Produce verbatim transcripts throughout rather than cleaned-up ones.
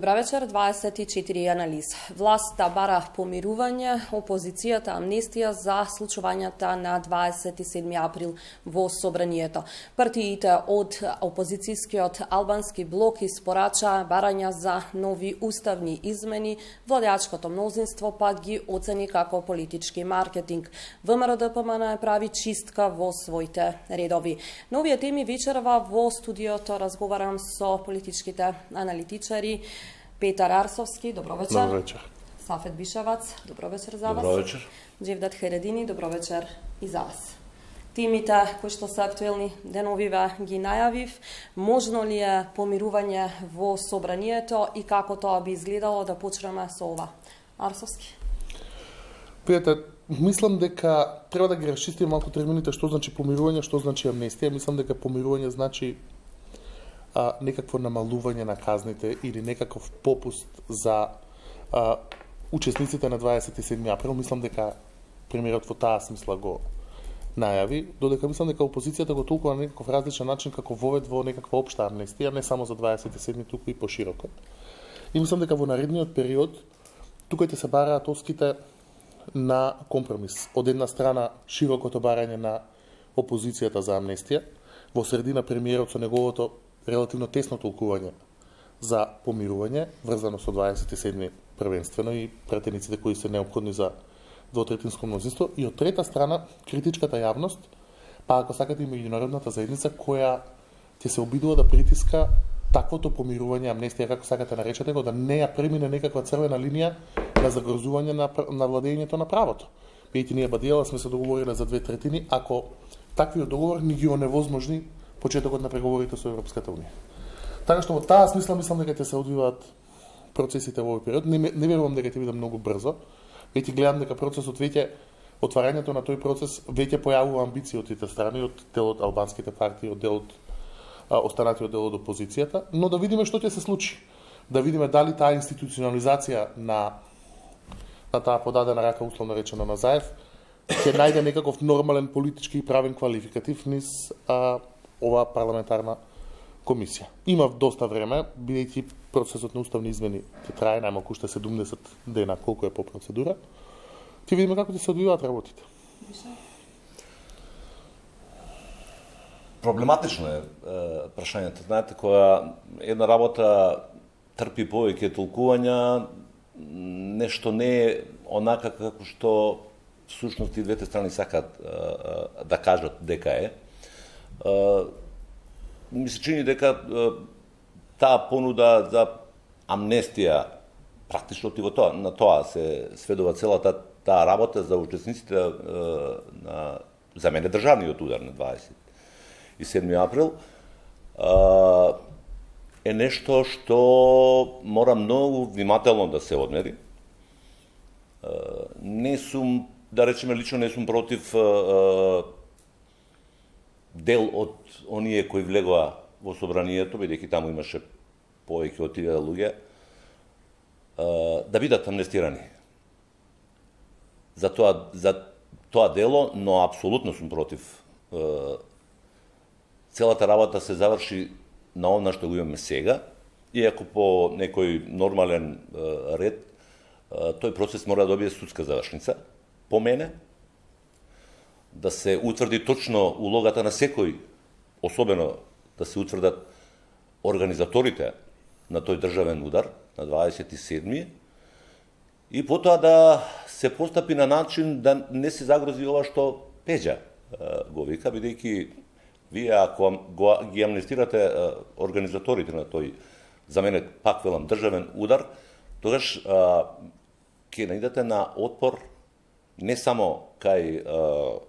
Добра вечер, дваесет и четири анализ. Власта бара помирување, опозицијата амнестија за случувањата на дваесет и седми април во собранието. Партиите од опозицијскиот албански блок испорача барања за нови уставни измени, владеачкото мнозинство пак ги оцени како политички маркетинг. ВМРО-ДПМН прави чистка во своите редови. На овие теми вечерва во студиото разговарам со политичките аналитичари. Петар Арсовски, добро вечер. Добро вечер. Сафет Бишевац, добро вечер за вас. Добро вечер. Джевдат Хередини, добро вечер и за вас. Темите кои што се актуелни деновиве ги најавив. Можно ли е помирување во собранието и како тоа би изгледало? Да почнеме со ова. Арсовски. Пријател, мислам дека треба да ги расчистиме малку термините што значи помирување, што значи амнестија. Мислам дека помирување значи а, некакво намалување на казните или некаков попуст за а, учесниците на дваесет и седми април. Мислам дека премиерот во таа смисла го најави, додека мислам дека опозицијата го толкува на некаков различен начин како вовед во некаква општа амнестија, не само за дваесет и седми, туку и пошироко. И мислам дека во наредниот период тука ќе се бараат оските на компромис. Од една страна широкото барање на опозицијата за амнестија, во средина премиерот со неговото релативно тесно толкување за помирување, врзано со дваесет и седми првенствено и пратениците кои се неопходни за двотретинско мнозинство, и од трета страна критичката јавност, па ако сакате и меѓународната заедница, која ќе се обидува да притиска таквото помирување, амнестија, како сакате наречете го, да не ја премине некаква црвена линија на загрозување на, на владењето на правото. Бидејќи ние Бадијала сме се договориле за две третини, ако таквиот договор ни ги оневозможни почетокот на преговорите со Европската унија. Така што во таа смисла мислам дека ќе се одвиваат процесите во овој период. Не, не верувам дека ќе биде многу брзо. Веќе гледам дека процесот веќе, отварањето на тој процес веќе појавува амбиции од тите страни, од делот албанските партии, од делот останатиот дел од опозицијата, но да видиме што ќе се случи. Да видиме дали таа институционализација на на таа подадена рака, условно речено на Заев, ќе најде некаков нормален политички и правен квалификатив низ а, оваа парламентарна комисија. Има доста време, бидејќи процесот на уставни измени ќе трае најмалку уште седумдесет дена, колку е по процедура. Ќе видиме како ќе се одвиваат работите. Проблематично е, е прашањето. Знаете, кога една работа трпи повеќе толкувања, нешто не е онака како што всушност и двете страни сакаат е, е, да кажат дека е. е ми се чини дека е, таа понуда за амнестија практично во тоа, на тоа се сведува целата таа работа за учесниците е, на, за мене државниот удар на дваесет и седми април е нешто што мора многу внимателно да се одмери. Не сум, да речеме лично, не сум против дел од оние кои влегоа во собранието, бидејќи таму имаше повеќе од илјада луѓе, да бидат амнестирани. За тоа, за тоа дело, но апсолутно сум против целата работа се заврши на она што го имаме сега, иако по некој нормален е, ред, е, тој процес мора да добие судска завршница, по мене, да се утврди точно улогата на секој, особено да се утврдат организаторите на тој државен удар, на дваесет и седми, и потоа да се постапи на начин да не се загрози ова што Пеđа е, го вика, бидејќи вие, ако го, ги амнестирате а, организаторите на тој, за мене, пак велам, државен удар, тогаш а, ќе наидете на отпор не само кај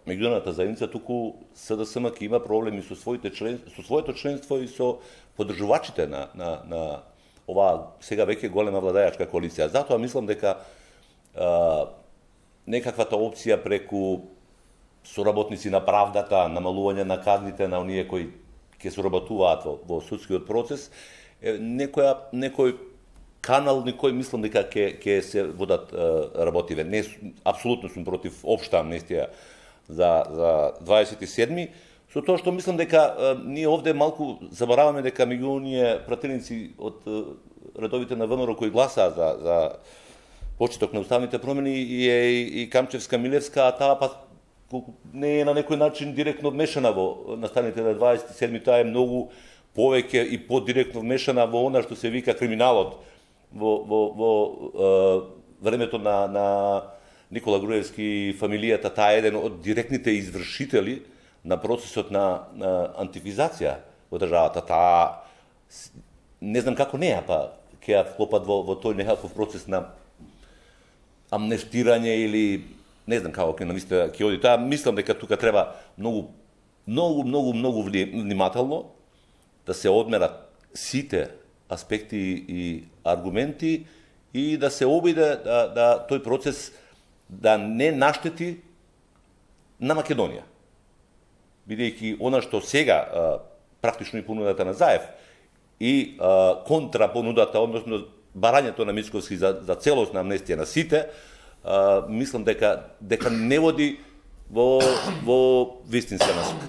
меѓународната заедница, туку СДСМ ќе има проблеми со своите член, со своето членство и со поддржувачите на, на, на оваа сега веќе голема владеачка коалиција. Затоа мислам дека а, некаквата опција преку соработници на правдата, намалување на казните на оние кои ќе соработуваат во, во судскиот процес, е некоја некој канал на кој мислам дека ќе ќе се водат е, работиве. Не апсолутно сум против општа амнестија за за дваесет и седми, со тоа што мислам дека е, ние овде малку забораваме дека меѓу оние пратеници од е, редовите на ВМРО кои гласаа за, за почеток на уставните промени е и, и Камчевска, Милевска, а таа па не е на некој начин директно вмешана во настаните на дваесет и седми, таа е многу повеќе и подиректно вмешана во она што се вика криминалот во, во, во е, времето на, на Никола Груевски и фамилијата. Таа е еден од директните извршители на процесот на, на антифизација во државата. Таа, не знам како неа, па ќе ја вклопат во, во тој некаков процес на амнестирање или не знам како ќе намисля ќе оди. Таа мислам дека тука треба многу многу многу многу внимателно да се одмерат сите аспекти и аргументи и да се обиде да, да тој процес да не наштети на Македонија. Бидејќи она што сега а, практично и понудата на Заев и а, контра понудата, односно барањето на Мицковски за, за целосна амнестија на сите, а, мислам дека дека не води во во вистинска насока.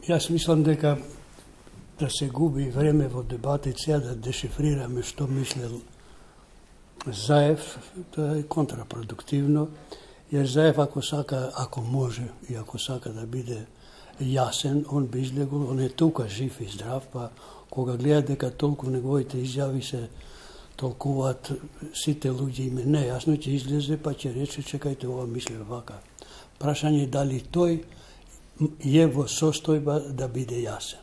Јас мислам дека да се губи време во дебата и сега да дешифрираме што мислел Заев, тоа е контрапродуктивно, jer Заев ако сака, ако може и ако сака да биде јасен, он би излегол, он е тука жив и здрав, па кога гледа дека толку неговите изјави се толкуваат сите луѓе име нејасно, ќе излезе па ќе рече чекајте ова мисле вака. Прашање е дали тој е во состојба да биде јасен.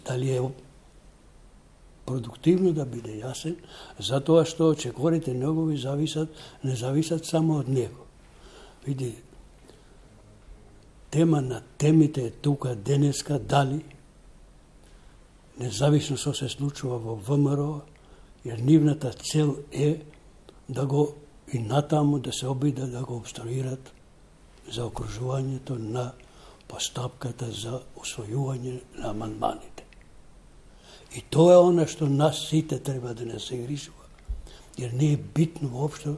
Дали е продуктивно да биде јасен, затоа што очекорите негови зависат, не зависат само од него. Види, тема на темите е тука денеска, дали, независно што се случува во ВМРО, jer нивната цел е да го и натаму да се обиде да го обструират за окружувањето на постапката за усвојување на амандманите. И тоа е она што нас сите треба да не се грижува. Jer не е битно воопшто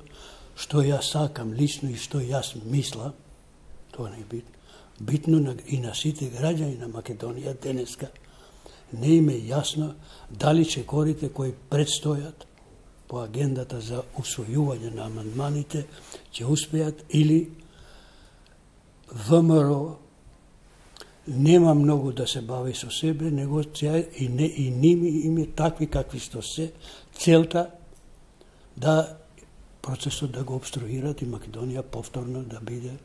што јас сакам лично и што јас мислам, тоа не е битно. Битно на, и на сите граѓани на Македонија денеска не им е јасно дали чекорите кои предстојат по агендата за усвојување на амандманите ќе успеат или ВМРО нема многу да се бави со себе, него и, не, и ними име такви какви што се, целта да процесот да го обструират и Македонија повторно да биде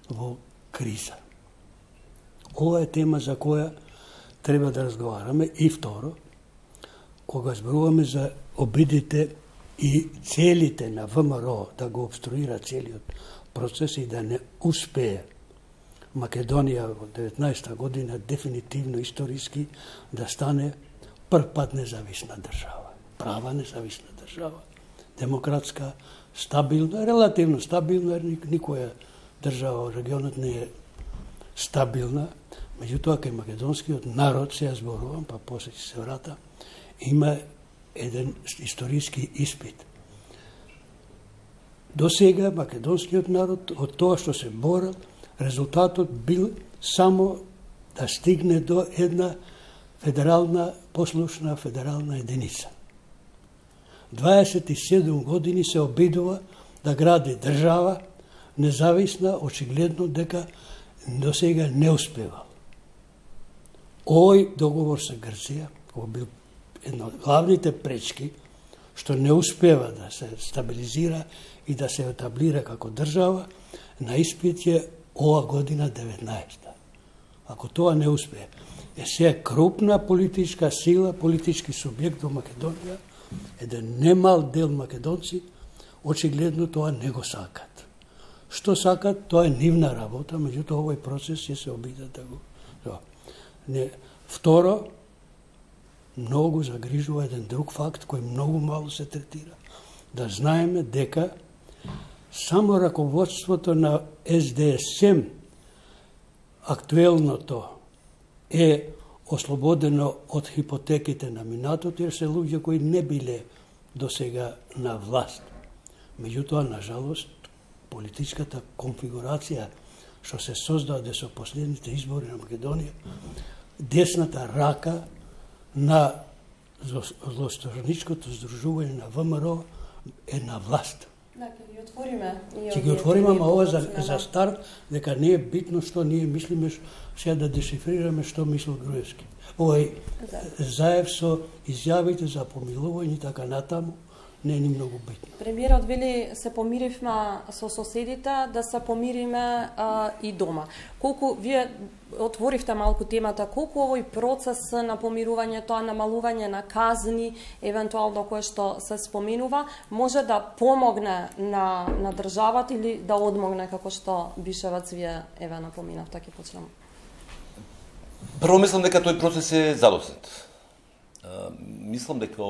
во криза. Ова е тема за која треба да разговараме. И второ, кога зборуваме за обидите и целите на ВМРО да го обструира целиот процес и да не успее Македонија во деветнаесетта година дефинитивно историски да стане прв пат независна држава. Права независна држава. Демократска, стабилна, релативно стабилна, jer никоја држава во регионот не е стабилна. Меѓутоа, кај македонскиот народ, се ја зборувам, па после ќе се врата, има еден историски испит. До сега македонскиот народ, од тоа што се борат, резултатот бил само да стигне до една федерална, послушна федерална единица. дваесет и седум години се обидува да гради држава, независна, очигледно дека до сега не успевал. Овој договор со Грција, кој бил една од главните пречки, што не успева да се стабилизира и да се етаблира како држава, на испит е ова година деветнаесетта. Ако тоа не успее, е се крупна политичка сила, политички субјект во Македонија, еден немал дел македонци, очигледно тоа не го сакат. Што сакат, тоа е нивна работа, меѓутоа овој процес ќе се обидат да го... Не. Второ, многу загрижува еден друг факт кој многу мало се третира. Да знаеме дека само раководството на Ес Де Ес Ем, актуелното, е ослободено од хипотеките на минатот, jer се луѓе кои не биле до сега на власт. Меѓутоа, на жалост, политичката конфигурација што се создаде со последните избори на Македонија десната рака на злосторничкото здружување на ВМРО е на власт. Да, ќе ги отвориме. Ќе ги отвориме, ама ова за, за старт, дека не е битно што ние мислиме, сега да дешифрираме што мислил Груевски. Овој Заев со изјавите за помилување и така натаму, не е ни многу битно. Премиерот вели се помиривме со соседите, да се помириме а, и дома. Колку вие отворивте малку темата, колку овој процес на помирување, тоа намалување на казни, евентуално кое што се споменува, може да помогне на, на државата или да одмогне, како што Бишевац вие еве напоминавте, ќе почнем. Прво мислам дека тој процес е задоснет. Мислам дека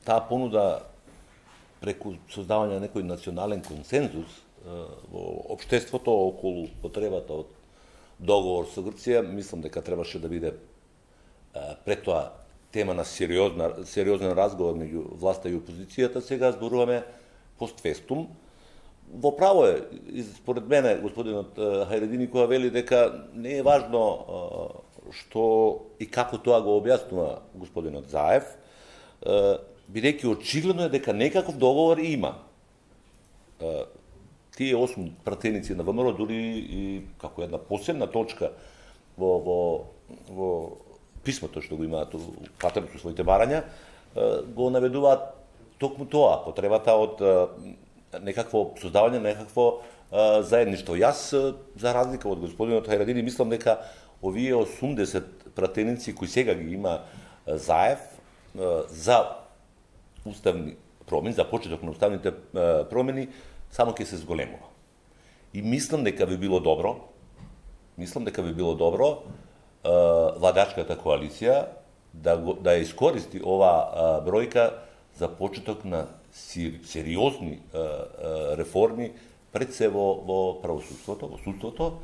таа понуда преку создавање на некој национален консензус во општеството околу потребата од договор со Грција, мислам дека требаше да биде пред тоа тема на сериозна, сериозен разговор меѓу власта и опозицијата. Сега зборуваме постфестум. Во право е, според мене, господинот Хајредини, кога вели дека не е важно што и како тоа го објаснува господинот Заев, бидејќи очигледно е дека некаков договор има. Тие осум пратеници на ВМРО, дури и како една посебна точка во, во, во писмото што го имаат патено со своите барања, го наведуваат токму тоа, потребата од некакво создавање на некакво заедништво. Јас, за разлика од господинот Хајредини, мислам дека овие осумдесет пратеници кои сега ги има Заев за уставни промени, за почеток на уставните промени, само ќе се зголемува. И мислам дека би било добро, мислам дека би било добро владачката коалиција да го, да искористи ова бројка за почеток на сериозни реформи пред се во, во правосудството, во судството,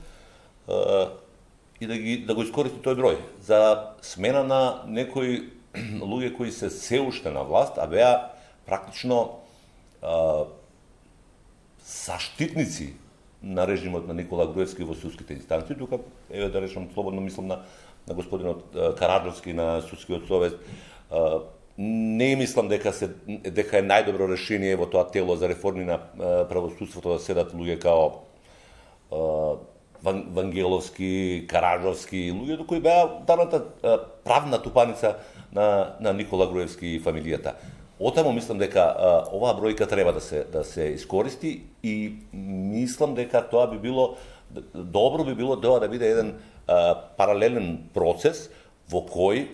и да, ги, да го искористи тој број за смена на некои луѓе кои се се уште на власт, а беа практично а, заштитници на режимот на Никола Груевски во судските инстанции. Тука, еве да речам, слободно мислам на, на господинот Караджовски, на судскиот совет. А, не мислам дека се дека е најдобро решение во тоа тело за реформи на правосудството да седат луѓе као а, Вангеловски, Караджовски, луѓе кои беа давната правна тупаница на, на Никола Груевски и фамилијата. Отамо мислам дека а, оваа бројка треба да се да се искористи и мислам дека тоа би било добро би било тоа да биде еден а, паралелен процес во кој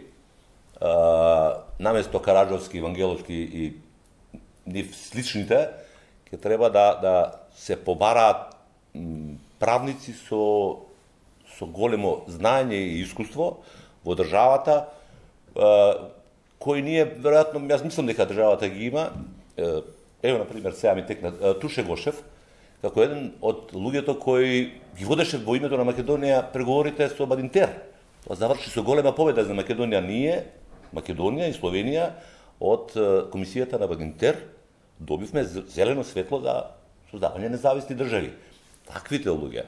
а, наместо Караджовски, Вангеловски и нив сличните ќе треба да да се побараат правници со со големо знаење и искуство во државата, кои ние, веројатно, јас мислам дека државата ги има. Ево, например, сега ми текна Туше Гошев, како еден од луѓето кои ги водеше во името на Македонија преговорите со Бадинтер. Тоа заврши со голема победа за Македонија. Ние, Македонија и Словенија, од комисијата на Бадинтер добивме зелено светло за создавање независни држави. Таквите луѓе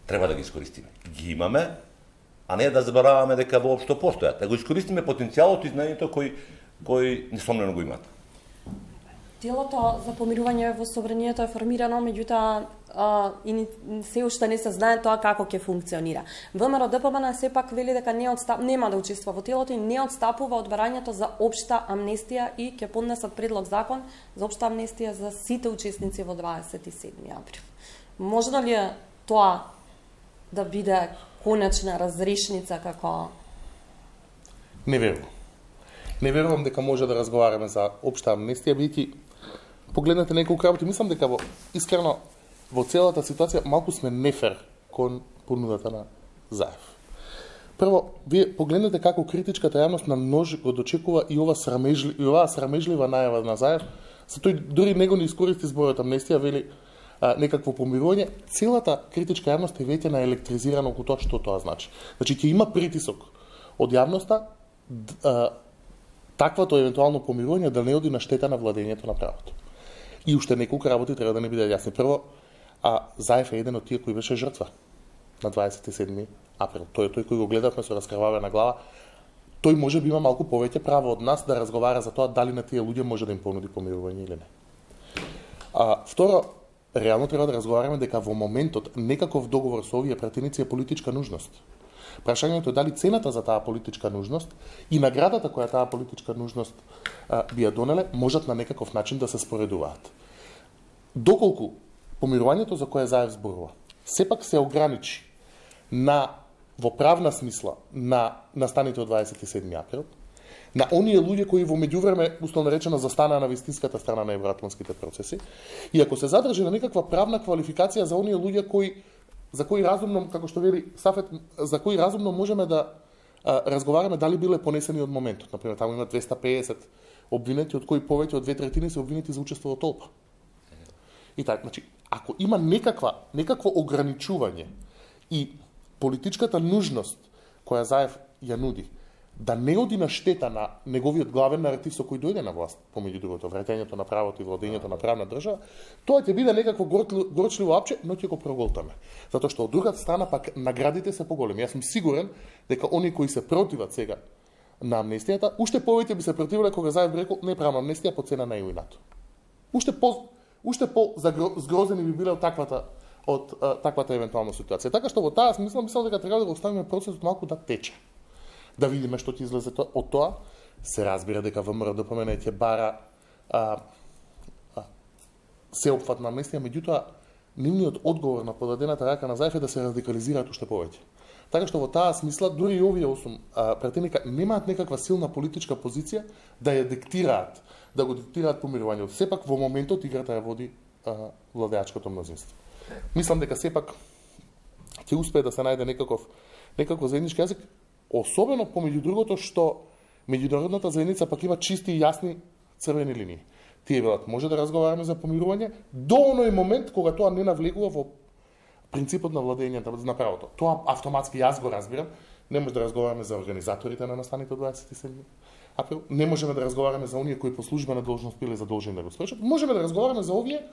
треба да ги искористиме. Ги имаме, а не да забораваме дека воопшто постојат. Да го искористиме потенцијалот и знаењето кој кој несомнено го имаат. Телото за помирување во собранието е формирано, меѓутоа и се уште не се знае тоа како ќе функционира. ВМРО-ДПМН сепак вели дека не отстап, нема да учествува во телото и не отстапува од барањето за општа амнестија и ќе поднесат предлог закон за општа амнестија за сите учесници во дваесет и седми април. Може ли е тоа да биде конечна разрешница како... Не верувам. Не верувам дека може да разговараме за општа амнестија, бидејќи погледнете неколку работи, мислам дека во искрено во целата ситуација малку сме нефер кон понудата на Заев. Прво, вие погледнете како критичката јавност на множ го дочекува и ова срамежли, и оваа срамежлива најава на Заев, за тој дури него не искористи зборот амнестија, вели а, некакво помирување. Целата критичка јавност е веќе наелектризирана околу тоа што тоа значи. Значи ќе има притисок од јавноста а, таквото евентуално помирување да не оди на штета на владењето на правото. И уште неколку работи треба да не бидат јасни. Прво, а Заев е еден од тие кои беше жртва. на дваесет и седми април. Тој е тој кој го гледавме со раскрвавена глава. Тој може би има малку повеќе право од нас да разговара за тоа дали на тие луѓе може да им понуди помирување или не. А, второ, реално треба да разговараме дека во моментот некаков договор со овие пратеници е политичка нужност. Прашањето е дали цената за таа политичка нужност и наградата која таа политичка нужност а, би ја донеле можат на некаков начин да се споредуваат. Доколку помирувањето за кое Заев зборува сепак се ограничи на во правна смисла на настаните од дваесет и седми април, на оние луѓе кои во меѓувреме условно речено застанаа на вистинската страна на евроатлантските процеси, и ако се задржи на некаква правна квалификација за оние луѓе кои за кои разумно, како што вели Сафет, за кои разумно можеме да а, разговараме дали биле понесени од моментот. Например, таму има двеста педесет обвинети, од кои повеќе од две третини се обвинети за учество во толпа. И така, значи, ако има некаква, некакво ограничување и политичката нужност која Заев ја нуди, да не оди на штета на неговиот главен наратив со кој дојде на власт, помеѓу другото, враќањето на правото и владењето на правна држава, тоа ќе биде некакво горчливо апче, но ќе го проголтаме. Затоа што од другата страна пак наградите се поголеми. Јас сум сигурен дека они кои се противат сега на амнестијата, уште повеќе би се противиле кога Заев би рекол не правам амнестија по цена на ЕУ и НАТО. Уште по уште по згрозени би биле од таквата од а, таквата евентуална ситуација. Така што во таа смисла мислам дека треба да го оставиме процесот малку да тече. Да видиме што ќе излезе од тоа. Се разбира дека ВМРО-ДПМН ќе бара а, а, сеопфатна амнестија, меѓутоа нивниот одговор на подадената рака на Заев е да се радикализираат уште повеќе. Така што во таа смисла дури и овие осум а, пратеника немаат некаква силна политичка позиција да ја диктираат, да го диктираат помирувањето. Сепак во моментот играта ја води а, владеачкото мнозинство. Мислам дека сепак ќе успее да се најде некаков некаков заеднички јазик, особено помеѓу другото што меѓународната заедница пак има чисти и јасни црвени линии. Тие велат може да разговараме за помирување до оној момент кога тоа не навлегува во принципот на владењето на правото. Тоа автоматски јас го разбирам. Не може да разговараме за организаторите на настаните од дваесет и седми април. Не можеме да разговараме за оние кои по службена должност биле задолжени да го свршат. Можеме да разговараме за овие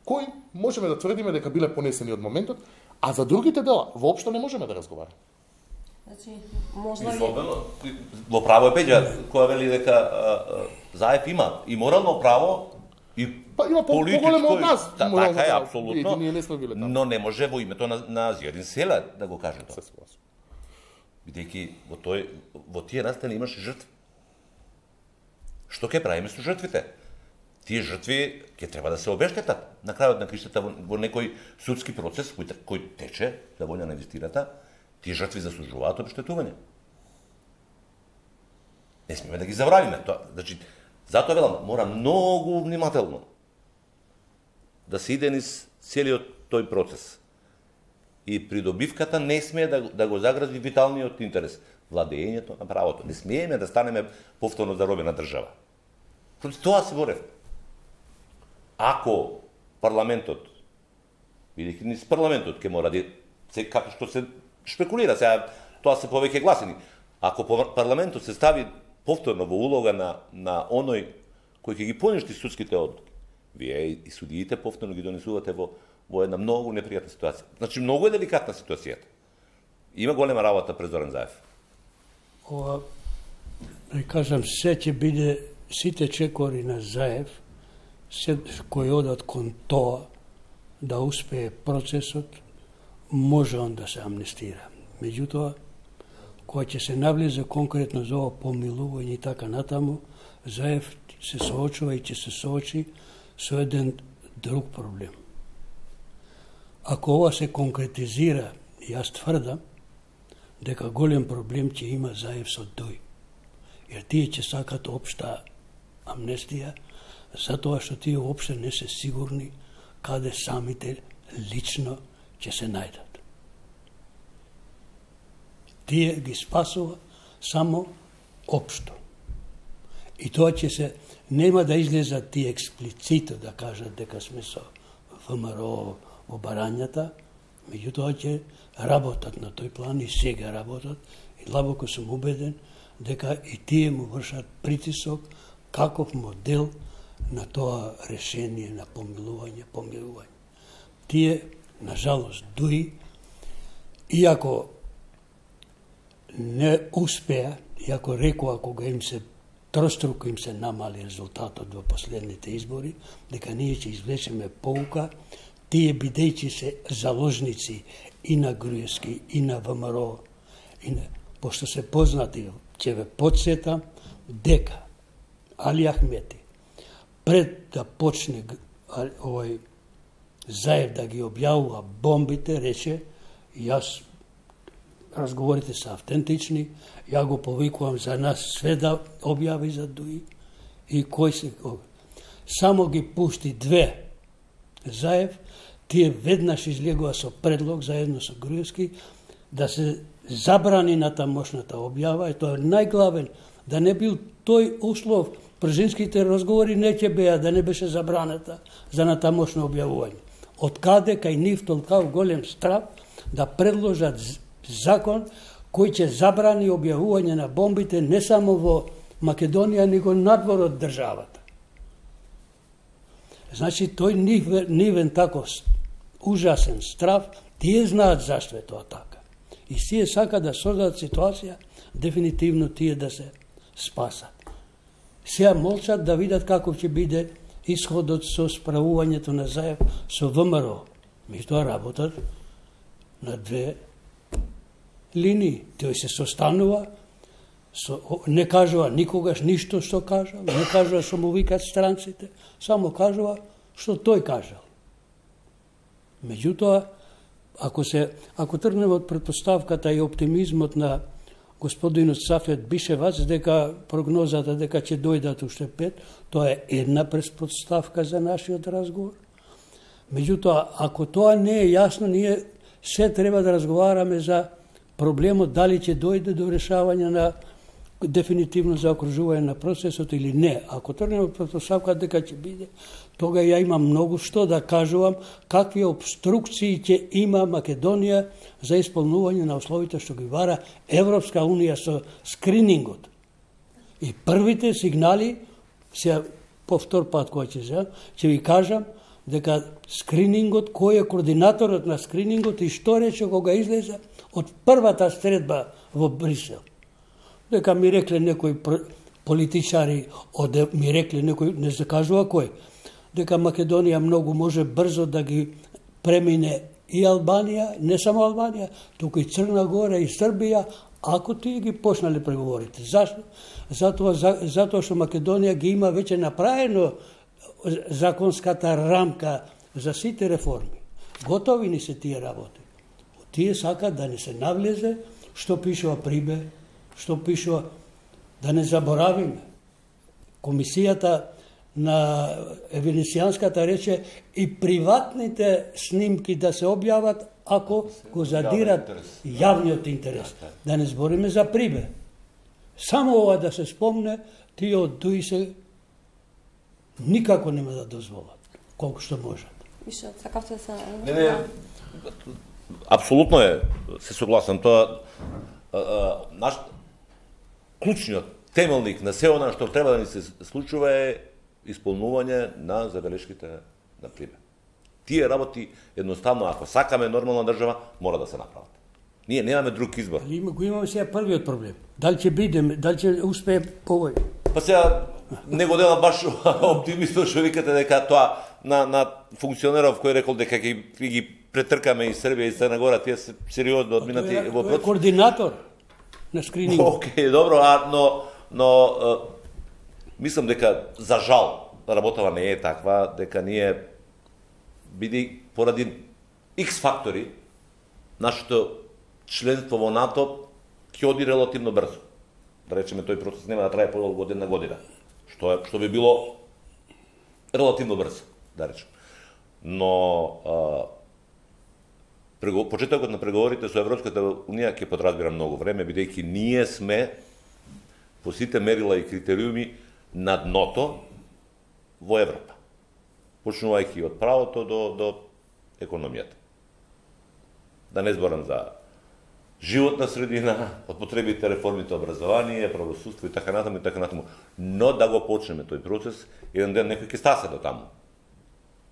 кои можеме да тврдиме дека биле понесени од моментот, а за другите дела воопшто не можеме да разговараме. Значи, можна ли... Во право е Пеѓа, која вели дека а, а, Заев има и морално право, и па, има по-големо од нас. Та, така е, апсолутно, ние не сме биле таму. Но не може во името на, на Зијадин Села да го каже тоа. Бидејќи во, тој, во тие настани имаше жртви. Што ќе правиме со жртвите? Тие жртви ќе треба да се обештетат. На крајот на криштата во, во некој судски процес кој, кој тече, да волја на инвестирата, тие жртви заслужуваат обештетување. Не смеме да ги забравиме тоа. Значи, затоа велам, мора многу внимателно да се иде низ целиот тој процес. И придобивката не смее да, да го загрази виталниот интерес, владењето на правото. Не смееме да станеме повторно заробена држава. Против тоа се борев. Ако парламентот, бидејќи низ парламентот ќе мора да се како што се шпекулира, сега тоа се повеќе гласени. Ако парламентот се стави повторно во улога на на оној кој ќе ги поништи судските одлуки, вие и судиите повторно ги донесувате во во една многу непријатна ситуација. Значи многу е деликатна ситуацијата. Има голема работа пред Зоран Заев. Ова, да кажам, се ќе биде сите чекори на Заев, се кои одат кон тоа да успее процесот, може он да се амнестира. Меѓутоа, кога ќе се навлезе конкретно за ова помилување и така натаму, Заев се соочува и ќе се соочи со еден друг проблем. Ако ова се конкретизира, јас тврдам дека голем проблем ќе има Заев со Дој. Jer tije će sakat opšta amnestija, zato što tije uopšte ne se sigurni kade samite lično će se najdat. Tije gi spasova samo opšto. I to će se, nema da izleza ti eksplicito da kažat дека сме со ВМРО во барањата, меѓутоа ќе работат на тој план и сега работат и длабоко сум убеден дека и тие му вршат притисок каков модел на тоа решение на помилување, помирување. Тие, на жалост, дуи иако не успеа, иако рекоа кога им се троstruko им се намали резултатот во последните избори, дека ние ќе извлечеме поука, тие бидејќи се заложници и на Груевски, и на ВМРО, и на, пошто се познати, ќе ве подсетам дека Али Ахмети, пред да почне овој Заев да ги објавува бомбите, рече, јас разговорите се автентични, ја го повикувам за нас све да објави за Дуи и кој се... Само ги пушти две Заев, тие веднаш излегува со предлог заедно со Груевски да се забрани на тамошната објава, и тоа е најглавен, да не бил тој услов, пржинските разговори не ќе беа, да не беше забраната за натамошно објавување. Од каде кај нив толкав голем страв да предложат закон кој ќе забрани објавување на бомбите не само во Македонија, него надвор од државата. Значи, тој нивен, нивен тако ужасен страв, тие знаат зашто е тоа така. И тие сака да создадат ситуација, дефинитивно тие да се спасат. Сега молчат да видат каков ќе биде исходот со справувањето на Заев со ВМРО. Меѓутоа работат на две линии. Тој се состанува, со, не кажува никогаш ништо што кажал, не кажува што му викат странците, само кажува што тој кажал. Меѓутоа, ако се ако тргнеме од претпоставката и оптимизмот на господинот Сафет Бишевац дека прогнозата дека ќе дојдат уште пет, тоа е една претпоставка за нашиот разговор. Меѓутоа, ако тоа не е јасно, ние се треба да разговараме за проблемот дали ќе дојде до решавање на дефинитивно заокружување на процесот или не. Ако тргнеме од претпоставка дека ќе биде, тога ја имам многу што да кажувам какви обструкции ќе има Македонија за исполнување на условите што ги вара Европска унија со скринингот. И првите сигнали, се повтор пат кој ќе земам, ќе ви кажам дека скринингот, кој е координаторот на скринингот и што рече кога излезе од првата средба во Брисел. Дека ми рекле некои политичари, оде ми рекле некои, не се кажува кој, дека Македонија многу може брзо да ги премине и Албанија, не само Албанија, туку и Црна Гора и Србија, ако тие ги почнале преговорите. Зашто? Затоа, за, затоа што Македонија ги има веќе направено законската рамка за сите реформи. Готови ни се тие работи. Тие сакат да не се навлезе што пишува Прибе, што пишува, да не заборавиме. Комисијата на Венецијанската рече и приватните снимки да се објават ако го задират јавниот интерес. Да не збориме за Прибе. Само ова да се спомне, тие од Дуи се никако нема да дозволат, колку што можат. Миша, сакавте да се... Не, не, апсолутно е, се согласам. Тоа, а, а, наш клучниот темелник на се она што треба да ни се случува е исполнување на забелешките на Прибе. Тие работи, едноставно, ако сакаме нормална држава, мора да се направат. Ние немаме друг избор. Има, го имаме сега првиот проблем. Дали ќе бидеме, дали ќе успее овој? Па сега, не го делам баш оптимистно што викате дека тоа на, на функционеров кој рекол дека ги, ги претркаме и Србија и Црна Гора, тие се сериозно одминати во процес. Координатор на скрининг. Океј, добро, а, но, но а, мислам дека, за жал, работава не е таква, дека ние, биди поради X фактори, нашето членство во НАТО ќе оди релативно брзо. Да речеме, тој процес нема да трае подолго од една година, што, е, што би било релативно брзо, да речеме. Но а, прего, почетокот на преговорите со Европската Унија ќе подразбира многу време, бидејќи ние сме по сите мерила и критериуми на дното во Европа, почнувајќи од правото до, до економијата. Да не зборам за животна средина, од потребите, реформите, образование, правосудство и така натаму и така натаму. Но да го почнеме тој процес, еден ден некој ќе стасе до таму.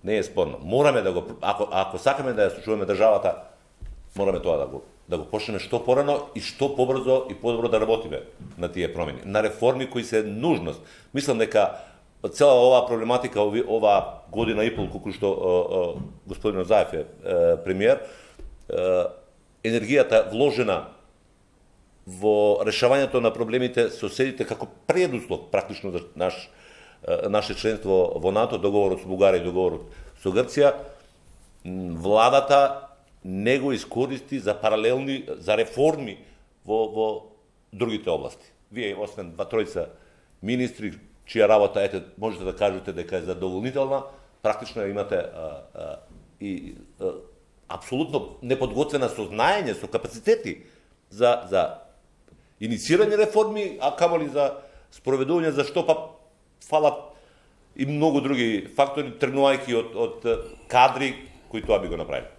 Не е спорно. Мораме да го, ако ако сакаме да ја случуваме државата, мораме тоа да го да го почнеме што порано и што побрзо и подобро да работиме на тие промени, на реформи кои се нужност. Мислам дека цела оваа проблематика оваа година и пол колку што господин Заев е премиер, енергијата вложена во решавањето на проблемите соседите како предуслов практично за наш наше членство во НАТО, договорот со Бугарија и договорот со Грција, владата не го искористи за паралелни, за реформи во, во другите области. Вие, освен два тројца министри, чија работа, ете, можете да кажете дека е задоволнителна, практично имате а, а, и а, апсолутно неподготвена со знаење, со капацитети за, за инициирање реформи, а камоли за спроведување, за што па фалат и многу други фактори, тргнувајќи од, од кадри кои тоа би го направили.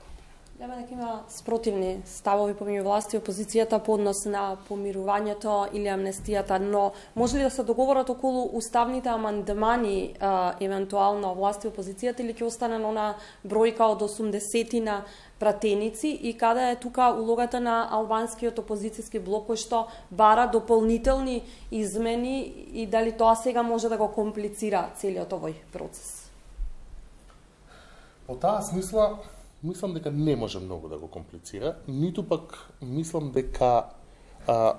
Лема дека има спротивни ставови помеѓу власти и опозицијата по однос на помирувањето или амнестијата, но може ли да се договорат околу уставните амандмани, а, евентуално власти и опозицијата, или ќе остане на она бројка од осумдесетина пратеници и каде е тука улогата на албанскиот опозицијски блок кој што бара дополнителни измени и дали тоа сега може да го комплицира целиот овој процес? По таа смисла, мислам дека не може многу да го комплицира, ниту пак мислам дека а,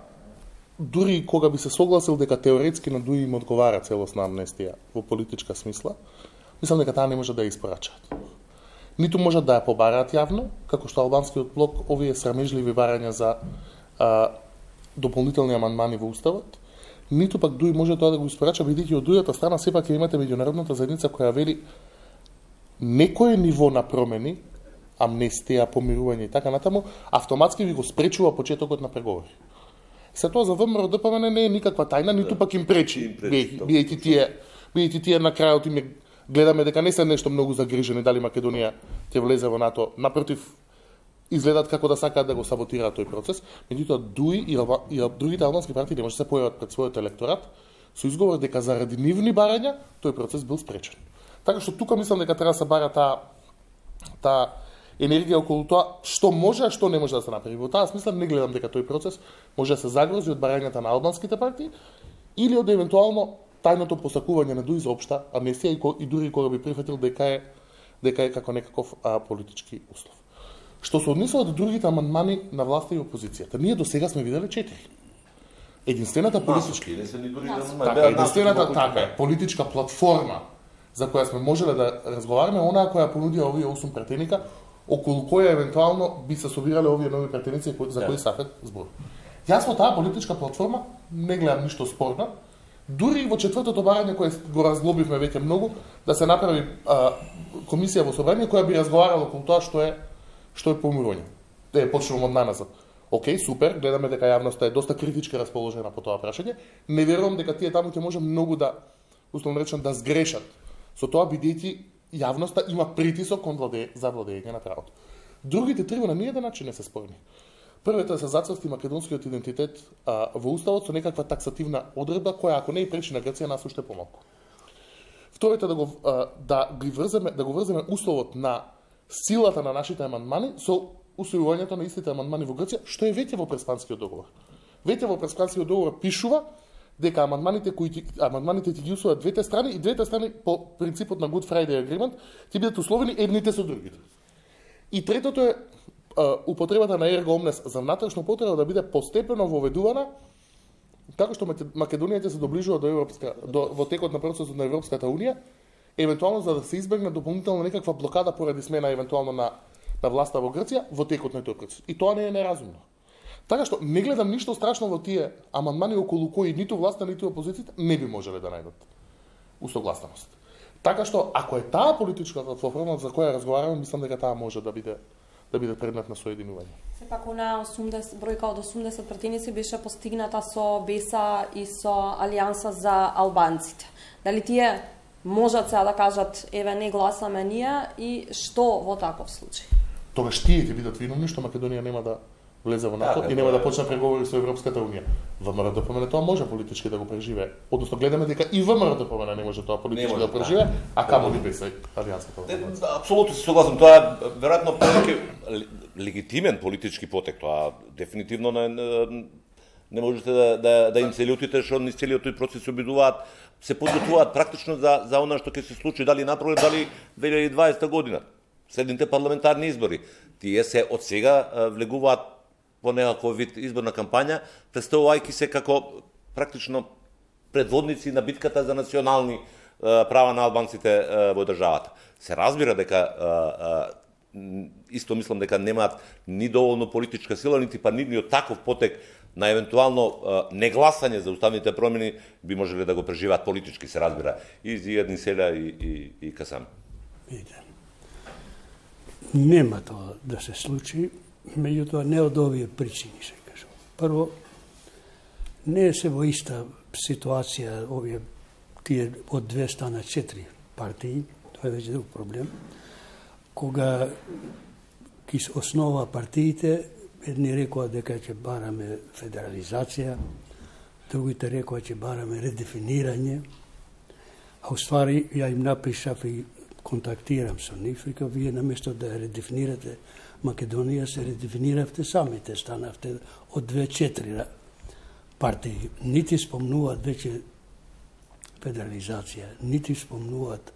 дури кога би се согласил дека теоретски на Дуи им одговара целосна амнестија во политичка смисла, мислам дека таа не може да ја испорачаат. Ниту можат да ја побараат јавно, како што албанскиот блок овие срамежливи барања за а, дополнителни амандмани во уставот, ниту пак Дуи може тоа да го испорача, бидејќи од другата страна сепак ќе имате меѓународната заедница која вели некое ниво на промени, амнестија, помирување и така натаму, автоматски ви го спречува почетокот на преговори. Се тоа за ВМРО-ДПМН не е никаква тајна, ниту пак им пречи, бидејќи тие, бидејќи тие на крајот им гледаме дека не се нешто многу загрижени дали Македонија ќе влезе во НАТО, напротив, изгледат како да сакаат да го саботираат тој процес, меѓутоа Дуи и, и другите албански партии не може да се појават пред својот електорат со изговор дека заради нивни барања тој процес бил спречен. Така што тука мислам дека треба да се бара таа таа енергија околу тоа што може, а што не може да се направи. Во таа смисла не гледам дека тој процес може да се загрози од барањата на албанските партии или од евентуално тајното посакување на Дуи за општа амнестија и, и дури кога би прифатил дека е дека е како некаков а, политички услов. Што се однесува до другите амандмани на власта и опозицијата, ние до сега сме виделе четири. Единствената политичка така, единствената така политичка платформа за која сме можеле да разговараме, онаа која понудија овие осум пратеника, околу која евентуално би се собирале овие нови пратеници за кои Сафет збор. Јас во таа политичка платформа не гледам ништо спорно, дури и во четвртото барање кое го разглобивме веќе многу, да се направи а, комисија во собрание која би разговарала околу тоа што е што е помирување. Е, почнувам од наназад. Океј, супер, гледаме дека јавноста е доста критички расположена по тоа прашање. Не верувам дека тие таму ќе може многу да, условно речено, да сгрешат со тоа, бидејќи јавноста има притисок кон владе, за владење на правото. Другите три на ниеден начин не се спорни. Првето е да се зацрсти македонскиот идентитет а, во уставот со некаква таксативна одредба која ако не и пречи на Грција нас уште помалку. Второто е да го а, да ги врземе да го врземе условот на силата на нашите амандмани со усвојувањето на истите амандмани во Грција, што е веќе во Преспанскиот договор. Веќе во Преспанскиот договор пишува дека амандманите кои амандманите ќе ги усвојат двете страни и двете страни по принципот на Good Friday Agreement ќе бидат условени едните со другите. И третото е а, употребата на erga omnes за внатрешна потреба да биде постепено воведувана така што Македонија ќе се доближува до европска до во текот на процесот на Европската унија, евентуално за да се избегне дополнително некаква блокада поради смена евентуално на на власта во Грција во текот на тој процес. И тоа не е неразумно. Така што не гледам ништо страшно во тие амандмани околу кои ниту власта, ниту опозицијата не би можеле да најдат усогласеност. Така што ако е таа политичка платформа за која разговараме, мислам дека таа може да биде да биде предмет на соединување. Сепак она осумдесет бројка од осумдесет пратеници беше постигната со БЕСА и со Алијанса за албанците. Дали тие можат сега да кажат еве не гласаме ние и што во таков случај? Тогаш тие ќе бидат виновни што Македонија нема да влезе во НАТО така, и нема да почне преговори со Европската унија. ВМРО-ДПМН тоа може политички да го преживее. Односно гледаме дека и ВМРО-ДПМН не може тоа политички може, да го преживее, а камо ли без алијансата. Апсолутно се согласам, тоа е веројатно повеќе легитимен политички потек, тоа дефинитивно не, не, не можете да, да, да им се лутите што низ целиот тој процес се обидуваат, се подготвуваат практично за за она што ќе се случи дали напролет, дали две илјади и дваесета година. Следните парламентарни избори. Тие се од сега влегуваат по некаков вид изборна кампања, представувајќи се како практично предводници на битката за национални права на албанците во државата. Се разбира дека исто мислам дека немаат ни доволно политичка сила, нити па ни од таков потек на евентуално негласање за уставните промени би можеле да го преживеат политички, се разбира, и Зијад Селја и, и, и Касам. Нема тоа да се случи, меѓутоа не од овие причини се кажува. Прво, не се во иста ситуација овие тие од две стана четири партии, тоа е веќе друг проблем. Кога ги основа партиите, едни рекоа дека ќе бараме федерализација, другите рекоа ќе бараме редефинирање, а уствари ја им напишав и контактирам со нив, вика, вие наместо да ја редефинирате Македонија, се редефиниравте самите, станавте од две-четири партии. Нити спомнуваат веќе федерализација, нити спомнуваат.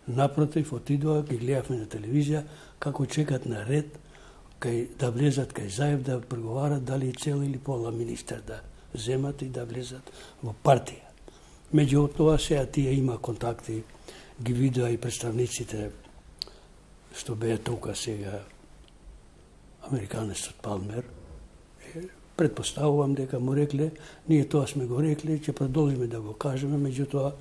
Напротив, отидоа, ги гледавме на телевизија, како чекат на ред, кај, да влезат кај Заев, да преговарат дали цел или пола министер да земат и да влезат во партија. Меѓу тоа сега тие има контакти, ги видоа и представниците што беа тука сега американецот Палмер. Предпоставувам дека му рекле, ние тоа сме го рекле, ќе продолжиме да го кажеме, меѓутоа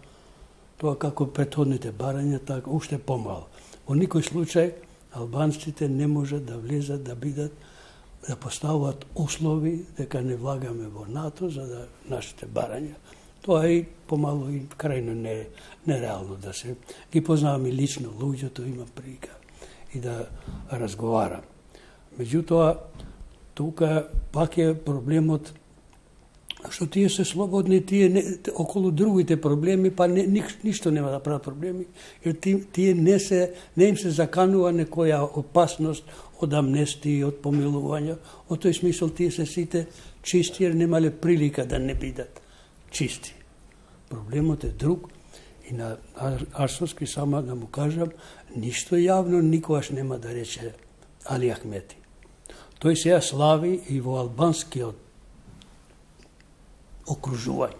тоа како претходните барања, така уште помало. Во никој случај албанците не можат да влезат, да бидат, да поставуваат услови дека не влагаме во НАТО за да нашите барања. Тоа е помало и крајно не, нереално да се ги познавам и лично луѓето, имам прилика и да разговарам. Меѓутоа, тука пак е проблемот што тие се слободни, тие не, околу другите проблеми, па не, ни, ништо нема да прават проблеми, jer тие, тие не, се, не им се заканува некоја опасност од амнестија, од помилување. Од тој смисол тие се сите чисти, jer немале прилика да не бидат чисти. Проблемот е друг и на Арсовски сама да му кажам, ништо јавно никогаш нема да рече Али Ахмети. Тој сега слави и во албанскиот окружување.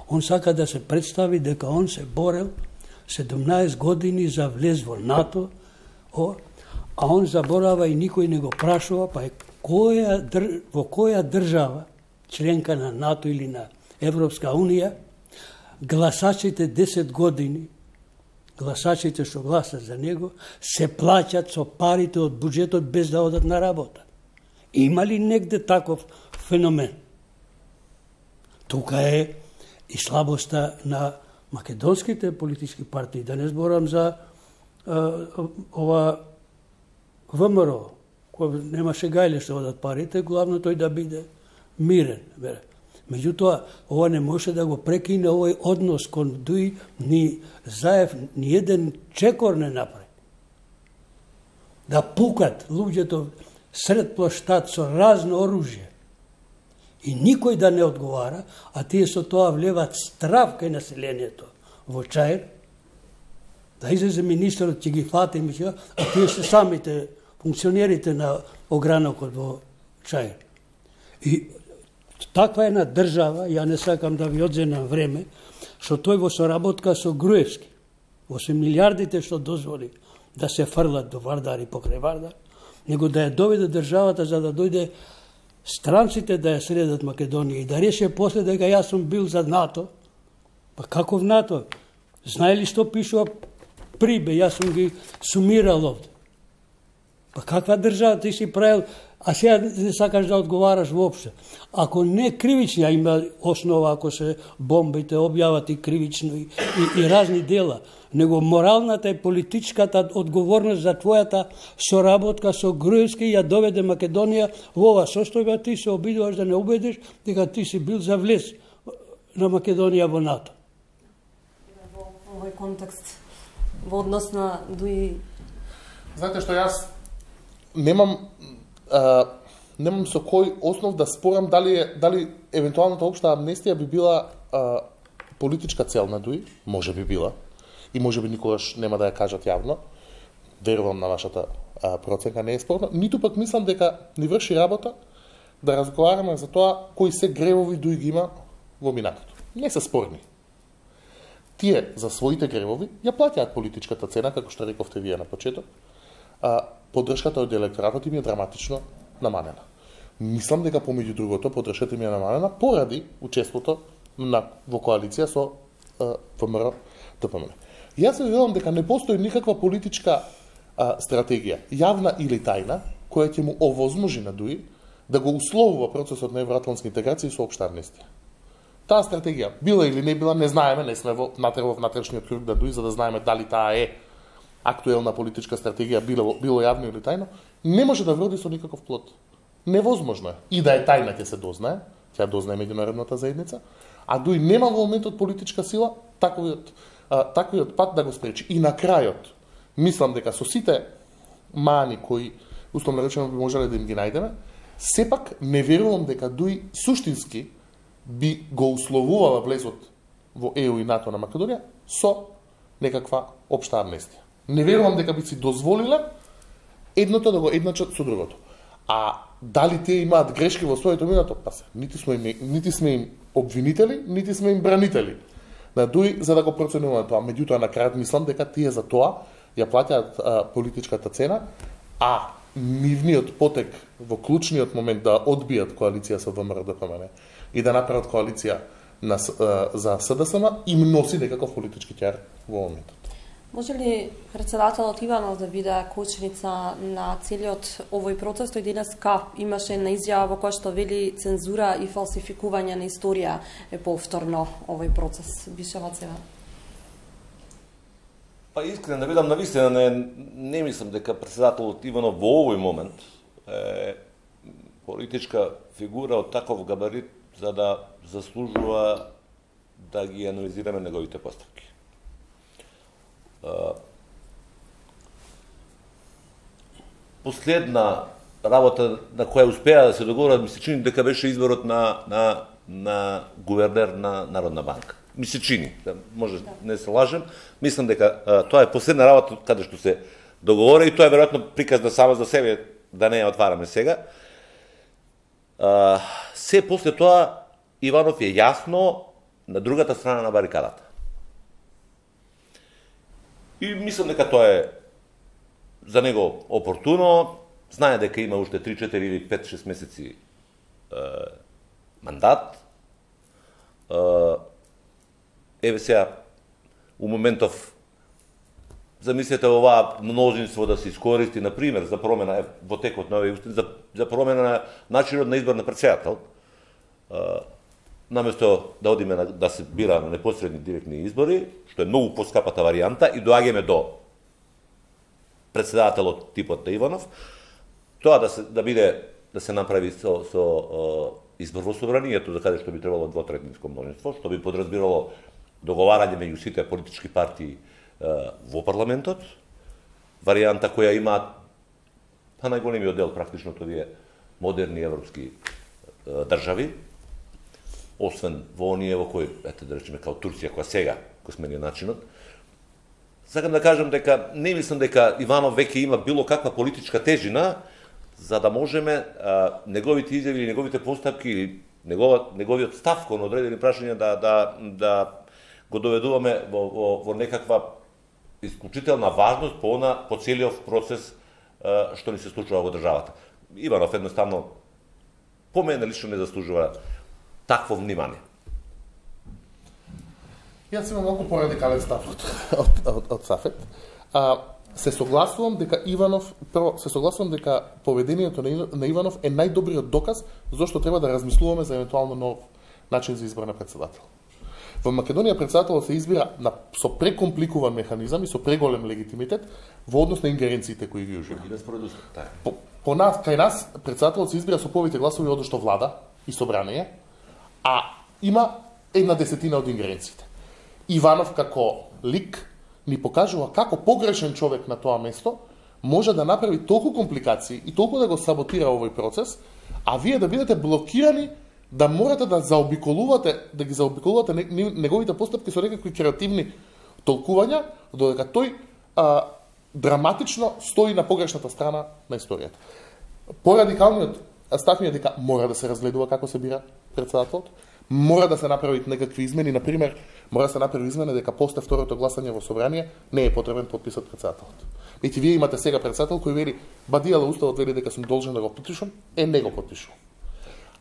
Он сака да се представи дека он се борел седумнаесет години за влез во НАТО, о, а он заборава и никој не го прашува, па е која, во која држава, членка на НАТО или на Европска унија, гласачите десет години, гласачите што гласат за него, се плаќат со парите од буџетот без да одат на работа. Има ли негде таков феномен? Тука е и слабоста на македонските политички партии. Да не зборам за а, ова ВМРО, кој немаше гајле што одат парите, главно тој да биде мирен. Меѓутоа, ова не може да го прекине овој однос кон Дуј, ни Заев, ни еден чекор не направи. Да пукат луѓето сред плоштад со разно оружје. И никој да не одговара, а тие со тоа влеват страв кај населението во Чаир, да излезе министерот, ќе ги фати, а тие се самите функционерите на огранокот во Чаир. И таква една држава, ја не сакам да ви одземам време, што тој во соработка со Груевски, во се милиардите што дозволи да се фрлат до Вардар и покрај Вардар, него да ја доведе државата за да дојде странците да ја средат Македонија и да реше после дека јас сум бил за НАТО. Па каков НАТО? Знаели што пишува прибе, јас сум ги сумирал овде. Па каква држава ти си правил, а сега не сакаш да одговараш воопште. Ако не кривични, а има основа ако се бомбите објават и кривично и, и, и разни дела, него моралната и политичката одговорност за твојата соработка со Груевски ја доведе Македонија во ова состојба. Ти се обидуваш да не убедиш дека ти си бил за влез на Македонија во НАТО. Во овој контекст, во однос на Дуи... Знаете што, јас немам а, немам со кој основ да спорам дали е, дали евентуалната општа амнестија би била а, политичка цел на Дуи, може би била, и може би никогаш нема да ја кажат јавно. Верувам на вашата а, проценка, не е спорно. Ниту пак мислам дека ни врши работа да разговараме за тоа кои се гревови Дуи ги има во минатото. Не се спорни. Тие за своите гревови ја плаќаат политичката цена, како што рековте вие на почеток. А, поддршката од електоратот им е драматично намалена. Мислам дека помеѓу другото поддршката им е намалена поради учеството на во коалиција со ВМРО Д П М Н. Јас се верувам дека не постои никаква политичка а, стратегија, јавна или тајна, која ќе му овозможи на Дуи да го условува процесот на евроатлантски интеграција со општа амнестија. Таа стратегија била или не била, не знаеме, не сме во во внатрешниот круг на Дуи за да знаеме дали таа е актуелна политичка стратегија, било, било јавно или тајно, не може да вроди со никаков плод. Невозможно е. И да е тајна ќе се дознае, ќе дознае меѓународната заедница, а Дуи нема во моментот политичка сила таквиот, а, таквиот пат да го спречи. И на крајот, мислам дека со сите мани кои, условно речено, би можеле да им ги најдеме, сепак не верувам дека Дуи суштински би го условувала влезот во Е У и НАТО на Македонија со некаква општа амнестија. Не верувам дека би си дозволиле едното да го едначат со другото. А дали тие имаат грешки во своето минато? Па се, нити сме им, нити сме им обвинители, нити сме им бранители на Дуи за да го проценуваме тоа. Меѓутоа на крајот мислам дека тие за тоа ја плаќаат а, политичката цена, а нивниот потек во клучниот момент да одбијат коалиција со Вэ М Р Д П М Н и да направат коалиција на, а, за С Д С М им носи некаков политички ќар во моментот. Може ли председателот Иванов да биде кочница на целиот овој процес? Тој денеска имаше една изјава во која што вели цензура и фалсификување на историја е повторно овој процес. Бишева Цева. Па искрено да бидам навистина, не, не мислам дека председателот Иванов во овој момент е политичка фигура од таков габарит за да заслужува да ги анализираме неговите постапки. Последна работа на која успеа да се договорат, ми се чини дека беше изборот на, на, на гувернер на Народна банка. Ми се чини, да, може да не се лажем, мислам дека а, тоа е последна работа каде што се договора и тоа е веројатно приказна само за себе, да не ја отвараме сега. А, се после тоа Иванов е јасно на другата страна на барикадата. И мислам дека тоа е за него опортуно, знае дека има уште три, четири или пет, шест месеци е, мандат. Е, еве сега, у моментов, замислете оваа мнозинство да се искористи, например, за промена, е, во текот на овој устин, за, за промена на начинот на избор на председател, е, наместо да одиме на, да се бира на непосредни директни избори, што е многу поскапата варијанта, и доаѓаме до председателот типот на Иванов, тоа да се да биде да се направи со со о, избор во собранието, за каде што би требало двотретинско мнозинство, што би подразбирало договарање меѓу сите политички партии е, во парламентот, варијанта која има па најголемиот дел практично тоа е модерни европски е, држави, освен во оние во кои, ете да речеме као Турција, која сега го смени начинот. Сакам да кажам дека не мислам дека Иванов веќе има било каква политичка тежина за да можеме а, неговите изјави или неговите постапки или негова, неговиот став кон одредени прашања да да да го доведуваме во, во, во некаква исклучителна важност по она по целиот процес а, што ни се случува во државата. Иванов едноставно по мене лично не заслужува такво внимание. Јас имам малку порадикален став од, од, од, од Сафет. А, се согласувам дека Иванов, прво, се согласувам дека поведението на Иванов е најдобриот доказ зошто треба да размислуваме за евентуално нов начин за избор на председател. Во Македонија председателот се избира на, со прекомпликуван механизам и со преголем легитимитет во однос на ингеренциите кои ги ужива. По, по нас, кај нас председателот се избира со повеќе гласови од што влада и собрание, а има една десетина од ингеренциите. Иванов како лик ни покажува како погрешен човек на тоа место може да направи толку компликации и толку да го саботира овој процес, а вие да бидете блокирани, да морате да заобиколувате, да ги заобиколувате неговите постапки со некакви креативни толкувања, додека тој а, драматично стои на погрешната страна на историјата. Порадикалниот став ми е дека мора да се разгледува како се бира председателот, мора да се направат некакви измени, например, мора да се направи измена дека после второто гласање во собрание не е потребен подписот председателот. Ети вие имате сега председател кој вели бадијала уставот вели дека сум должен да го подпишам, е не го подпишувам.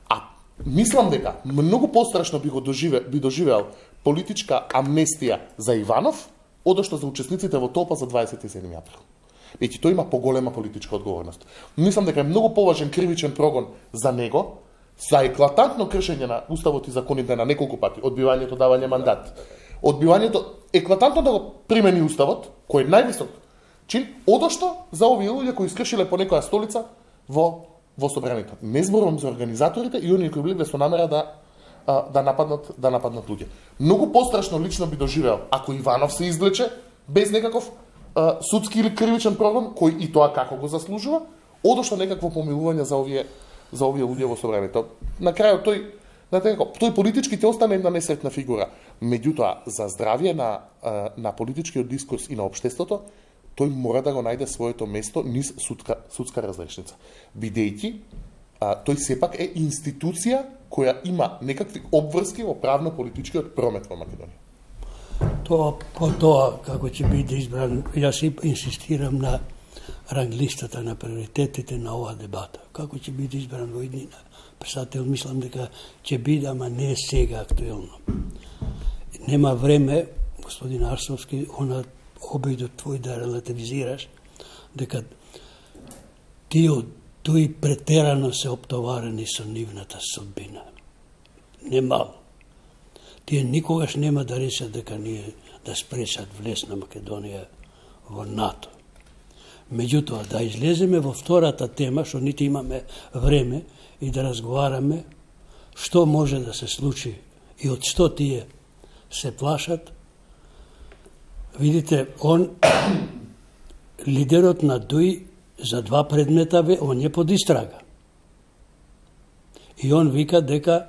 А мислам дека многу пострашно би го доживе, би доживеал политичка амнестија за Иванов, одошто за учесниците во толпа за дваесет и седми април. Ети тој има поголема политичка одговорност. Мислам дека е многу поважен кривичен прогон за него, за еклатантно кршење на уставот и законите на неколку пати, одбивањето давање мандат, одбивањето еклатантно да го примени уставот, кој е највисок чин, одошто за овие луѓе кои искршиле по некоја столица во во собранието. Не зборувам за организаторите и оние кои биле со намера да а, да нападнат да нападнат луѓе. Многу пострашно лично би доживеал ако Иванов се извлече без некаков а, судски или кривичен прогон, кој и тоа како го заслужува, одошто некакво помилување за овие за овие луѓе во собранието. На крајот тој на теко, тој политички ќе остане една несретна фигура. Меѓутоа за здравје на на политичкиот дискурс и на општеството, тој мора да го најде своето место низ судска судска разрешница. Бидејќи тој сепак е институција која има некакви обврски во правно-политичкиот промет во Македонија. Тоа по тоа како ќе биде избран, јас инсистирам на ранглистата на приоритетите на оваа дебата. Како ќе биде избран во иднина председател, мислам дека ќе биде, ама не е сега актуелно. Нема време, господин Арсовски, она обидот твој да релативизираш, дека тие тој претерано се оптоварени со нивната судбина. Немало. Тие никогаш нема да решат дека ние да спречат влез на Македонија во НАТО. Меѓутоа, да излеземе во втората тема, што нити имаме време, и да разговараме што може да се случи и од што тие се плашат. Видите, он, лидерот на ДУИ за два предмета, бе, он е под истрага. И он вика дека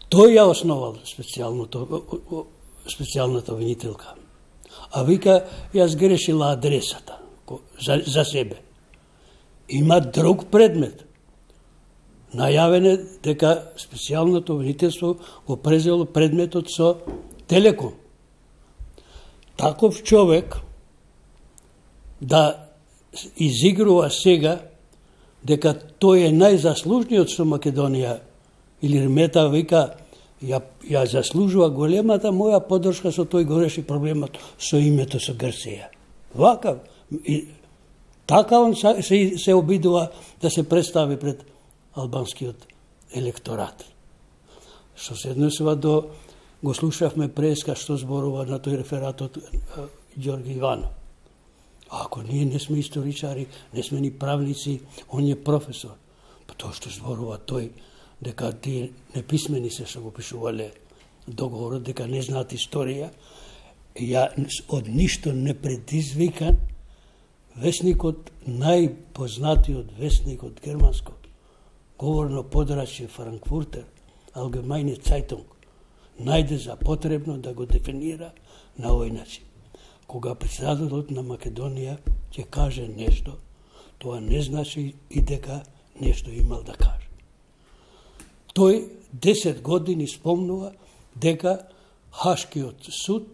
тој ја основал специјалната обвинителка. А вика, јас грешила адресата за, за себе. Има друг предмет. Најавен е дека специјалното обвинителство го презело предметот со Телеком. Таков човек да изигрува сега дека тој е најзаслужниот со Македонија, или Ремета вика, ја, ја заслужува големата моја поддршка со тој го реши проблемот со името со Грција. Вака, и, така он се, се обидува да се представи пред албанскиот електорат. Што се однесува до, го слушавме преска што зборува на тој реферат од Ѓорги Иванов. Ако ние не сме историчари, не сме ни правници, он е професор. Па тоа што зборува тој, дека тие неписмени се што го пишувале договорот, дека не знаат историја, ја од ништо не предизвикан, весникот, најпознатиот весник од германско говорно подрачје Франкфуртер, Allgemeine Zeitung, најде за потребно да го дефинира на овој начин. Кога председателот на Македонија ќе каже нешто, тоа не значи и дека нешто имал да каже. Тој десет години спомнува дека Хашкиот суд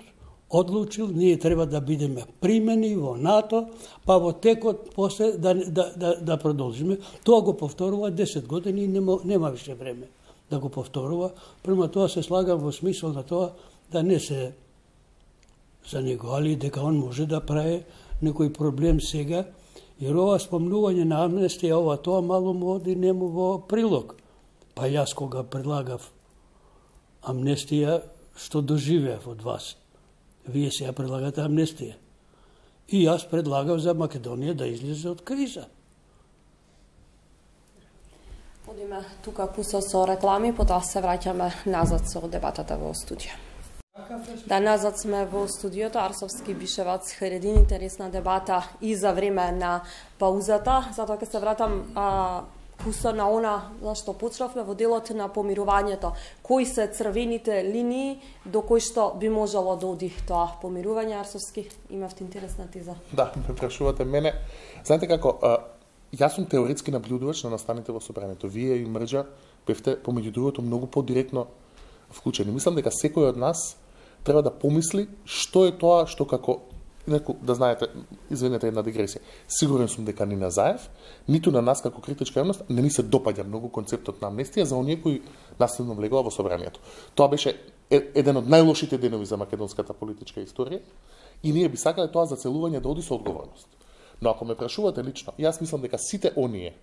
одлучил ние треба да бидеме примени во НАТО, па во текот после да, да, да, да продолжиме. Тоа го повторува десет години и нема, нема више време да го повторува. Према тоа се слагам во смисол на тоа да не се за него, али дека он може да прави некој проблем сега, jer ова спомнување на амнестија, ова тоа мало му оди нему во прилог. Па јас кога предлагав амнестија, што доживеав од вас? Вие сега предлагате амнестија. И јас предлагав за Македонија да излезе од криза. Одиме тука куса со реклами, потоа се враќаме назад со дебатата во студио. Да, назад сме во студиото. Арсовски Бишевац Харедин, интересна дебата и за време на паузата. Затоа ќе се вратам а, куса на она за што почнавме во делот на помирувањето. Кои се црвените линии до кои што би можело да оди тоа помирување? Арсовски, имавте интересна теза. Да, ме прашувате мене. Знаете како, а, јас сум теоретски наблюдувач на настаните во собранието. Вие и Мрџа бевте помеѓу другото многу подиректно вклучени. Мислам дека секој од нас треба да помисли што е тоа што како неку, да знаете, извинете една дигресија. Сигурен сум дека ни на Заев, ниту на нас како критичка јавност не ни се допаѓа многу концептот на амнестија за оние кои насилно влегува во собранието. Тоа беше еден од најлошите денови за македонската политичка историја и ние би сакале тоа зацелување да оди со одговорност. Но ако ме прашувате лично, јас мислам дека сите оние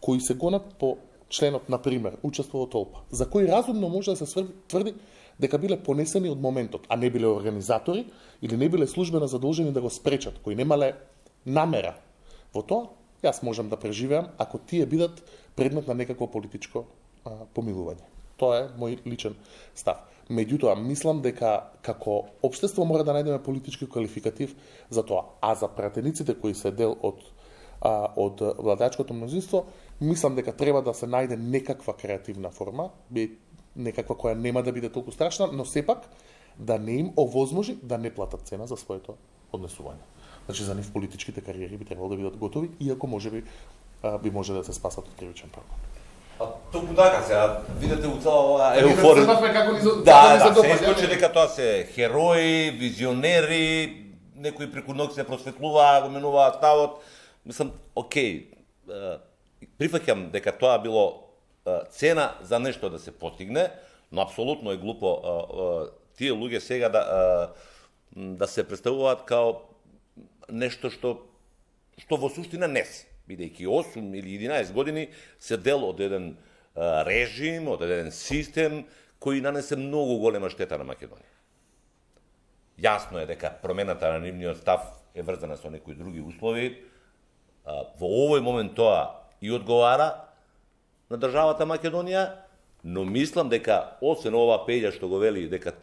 кои се гонат по членот, на пример, учество во толпа, за кои разумно може да се тврди дека биле понесени од моментот, а не биле организатори или не биле службено задолжени да го спречат, кои немале намера во тоа, јас можам да преживеам ако тие бидат предмет на некакво политичко а, помилување. Тоа е мој личен став. Меѓутоа, мислам дека како општество мора да најдеме политички квалификатив за тоа, а за пратениците кои се дел од а, од владачкото мнозинство, мислам дека треба да се најде некаква креативна форма, некаква која нема да биде толку страшна, но сепак да не им овозможи да не платат цена за своето однесување. Значи, за нив политичките кариери би требало да бидат готови, иако можеби би може да се спасат од кривичен прогон. А толку така сега, видите у цела ова еуфорија. Да, да, се искочи дека тоа се херои, визионери, некои преку ноќ се просветлуваа, го менуваат ставот. Мислам, окей, прифаќам дека тоа било цена за нешто да се постигне, но апсолутно е глупо тие луѓе сега да да се представуваат као нешто што што во суштина не се, бидејќи осум или единаесет години се дел од еден режим, од еден систем кој нанесе многу голема штета на Македонија. Јасно е дека промената на нивниот став е врзана со некои други услови. Во овој момент тоа и одговара на државата Македонија, но мислам дека освен ова Пеѓа што го вели дека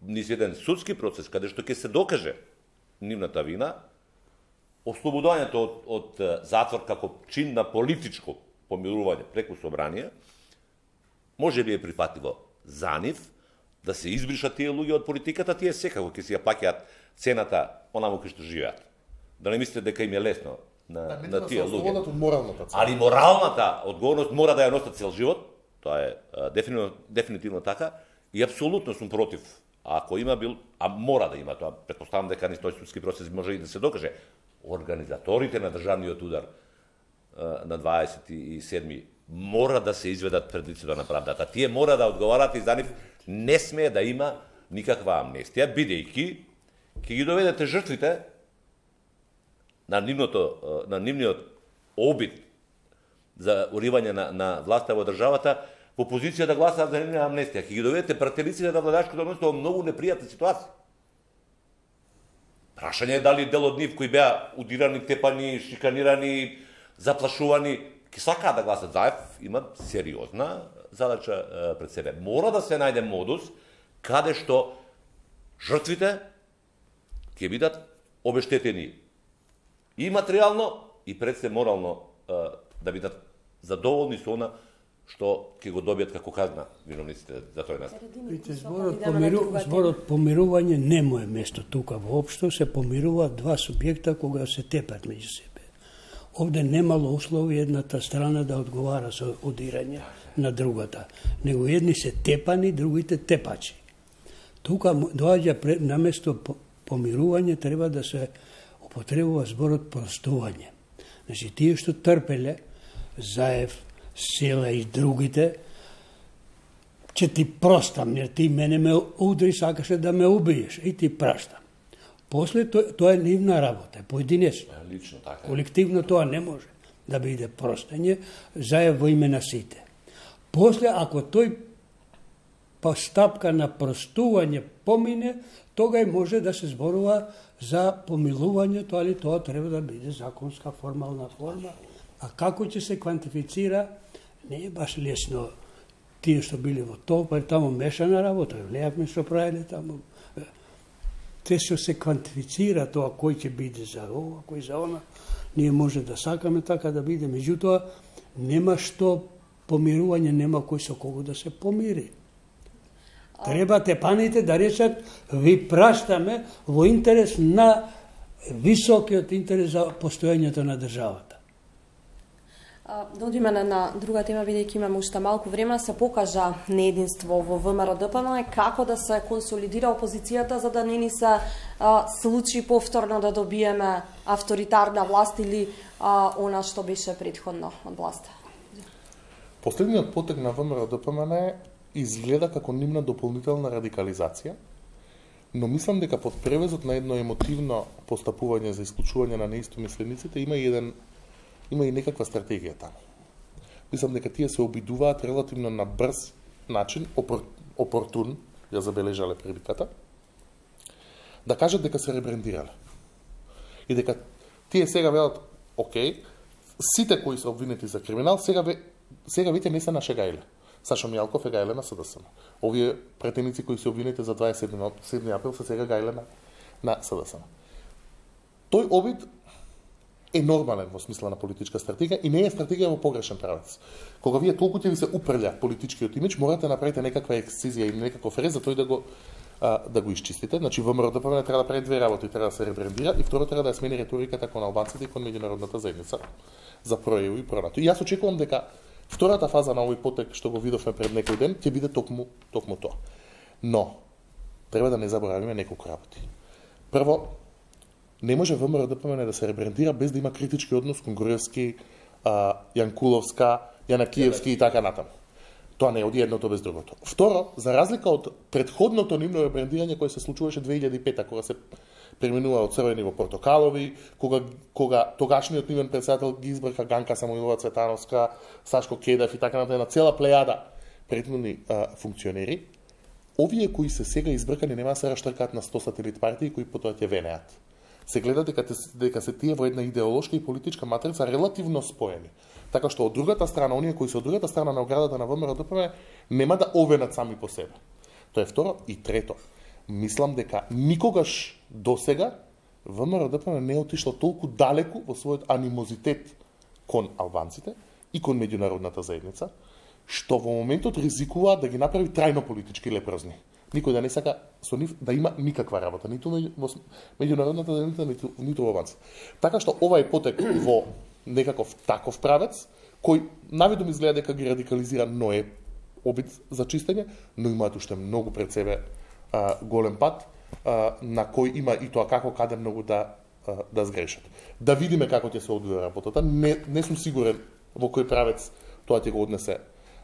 низ еден судски процес каде што ќе се докаже нивната вина, ослободувањето од, од затвор како чин на политичко помилување преку собрание, може би е прифатливо за нив да се избришат тие луѓе од политиката, тие секако ќе си ја плаќаат цената онаму кај што живеат. Да не мислите дека им е лесно на, да, на тие луѓе. Али моралната одговорност мора да ја носат цел живот, тоа е дефинитивно, дефинитивно така, и апсолутно сум против. Ако има бил, а мора да има тоа, претпоставам дека низ тој судски процес може и да се докаже, организаторите на државниот удар на дваесет и седми мора да се изведат пред лицето на правдата. Тие мора да одговарат и за нив не смее да има никаква амнестија, бидејќи ќе ги доведете жртвите на нивното на нивниот обид за уривање на, на власта во државата во позиција да гласаат за нивна амнестија. Ќе ги доведете пратениците на владачкото мнозинство во многу непријатна ситуација. Прашање е дали дел од нив кои беа удирани, тепани, шиканирани, заплашувани, ќе сакаат да гласат заев, имат сериозна задача пред себе. Мора да се најде модус каде што жртвите ќе бидат обештетени и материјално, и пред се морално да бидат задоволни со она што ќе го добијат како казна виновниците за тој настан. Видите, зборот, помиру, зборот помирување нема е место тука воопшто, се помируваат два субјекта кога се тепат меѓу себе. Овде немало услови едната страна да одговара со одирање на другата, него едни се тепани, другите тепачи. Тука доаѓа на место помирување треба да се употребува зборот простување. Значи тие што трпеле, Заев, Села и другите, ќе ти простам, jer ти мене ме удри, сакаше да ме убиеш, и ти праштам. После тоа, тоа е нивна работа, поединечно. Лично така. Колективно тоа не може да биде простење, заедно во име на сите. После, ако тој постапка на простување помине, тогаш може да се зборува за помилувањето, али тоа треба да биде законска формална форма. А како ќе се квантифицира, не е баш лесно. Тие што били во тоа, па таму мешана работа, гледавме што правиле таму. Те што се квантифицира тоа кој ќе биде за ова, кој за она, ние може да сакаме така да биде, меѓутоа нема што помирување, нема кој со кого да се помири. Треба тепаните да речат, ви праштаме во интерес на високиот интерес за постојањето на државата. Да одиме на, на друга тема, бидејќи имаме уште малку време, се покажа неединство во ВМРО-ДПМН, како да се консолидира опозицијата за да не ни се а, случи повторно да добиеме авторитарна власт или а, она што беше претходно од власта. Последниот потек на ВМРО-ДПМН изгледа како нивна дополнителна радикализација, но мислам дека под превезот на едно емотивно постапување за исклучување на неистомислениците има и еден има и некаква стратегија таму. Мислам дека тие се обидуваат релативно на брз начин, опор, опортун, ја забележале приликата, да кажат дека се ребрендирале. И дека тие сега велат, окей, сите кои се обвинети за криминал, сега, ве, сега веќе не се на Шегајле. Сашо Мијалков е гајле на СДСМ. Овие претеници кои се обвинети за дваесет и седми април се сега гајле на, на СДСМ. Тој обид е нормален во смисла на политичка стратегија и не е стратегија во погрешен правец. Кога вие толку ќе ви се упрља политичкиот имидж, морате да направите некаква ексцизија или некаков рез за тој да го а, да го исчистите. Значи ВМРО-ДПМН треба да прави две работи, треба да се ребрендира и второ треба да ја смени реториката кон албанците и кон меѓународната заедница за проево и пронато. И јас очекувам дека втората фаза на овој потек што го видовме пред некој ден ќе биде токму токму тоа. Но треба да не заборавиме неколку работи. Прво, не може ВМРО-ДПМН да се ребрендира без да има критички однос кон Груевски, а, Јанкуловска, Јанакиевски и така натаму. Тоа не оди едното без другото. Второ, за разлика од претходното нивно ребрендирање кое се случуваше две илјади и пета, кога се преминува од црвени во портокалови, кога, кога тогашниот нивен председател ги избрка Ганка Самуилова Цветановска, Сашко Кедев и така натаму, на цела плејада претходни а, функционери, овие кои се сега избркани нема да се раштркаат на сто сателит партии кои потоа ќе венеат. Се гледа дека, дека се тие во една идеолошка и политичка матрица релативно споени. Така што од другата страна, оние кои се од другата страна на оградата на ВМРО-ДПМН нема да овенат сами по себе. Тоа е второ. И трето, мислам дека никогаш досега ВМРО-ДПМН не е отишло толку далеку во својот анимозитет кон албанците и кон меѓународната заедница, што во моментот ризикува да ги направи трајно политички лепрозни. Никој да не сака со нив да има никаква работа, ниту во меѓународната заедница, ниту, ниту во албанците. Така што овај потек во некаков таков правец, кој навидом изгледа дека ги радикализира, но е обид за чистење, но имаат уште многу пред себе а, голем пат, а, на кој има и тоа како каде многу да, а, да сгрешат. Да видиме како ќе се одвива работата. Не, не сум сигурен во кој правец тоа ќе го однесе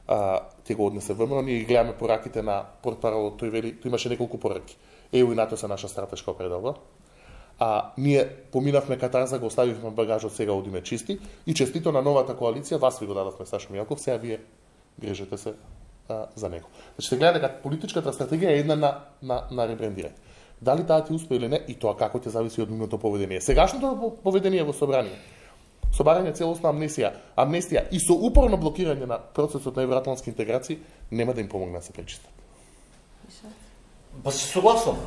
а, ќе го однесе ВМРО. Ние гледаме пораките на портпаролот, тој вели, тој имаше неколку пораки. Е У и НАТО се наша стратешка определба. А ние поминавме катарза, го оставивме багажот, сега одиме чисти и честито на новата коалиција, вас ви го дадовме Сашо Мијалков, сега вие грежете се а, за него. Значи се гледа дека политичката стратегија е една на, на, на ребрендирање. Дали таа ќе успее или не, и тоа како ќе зависи од нивното поведение. Сегашното поведение во собрание, собарање целосна амнестија, амнестија и со упорно блокирање на процесот на евроатлантски интеграции нема да им помогне да се пречистат. Па се согласувам.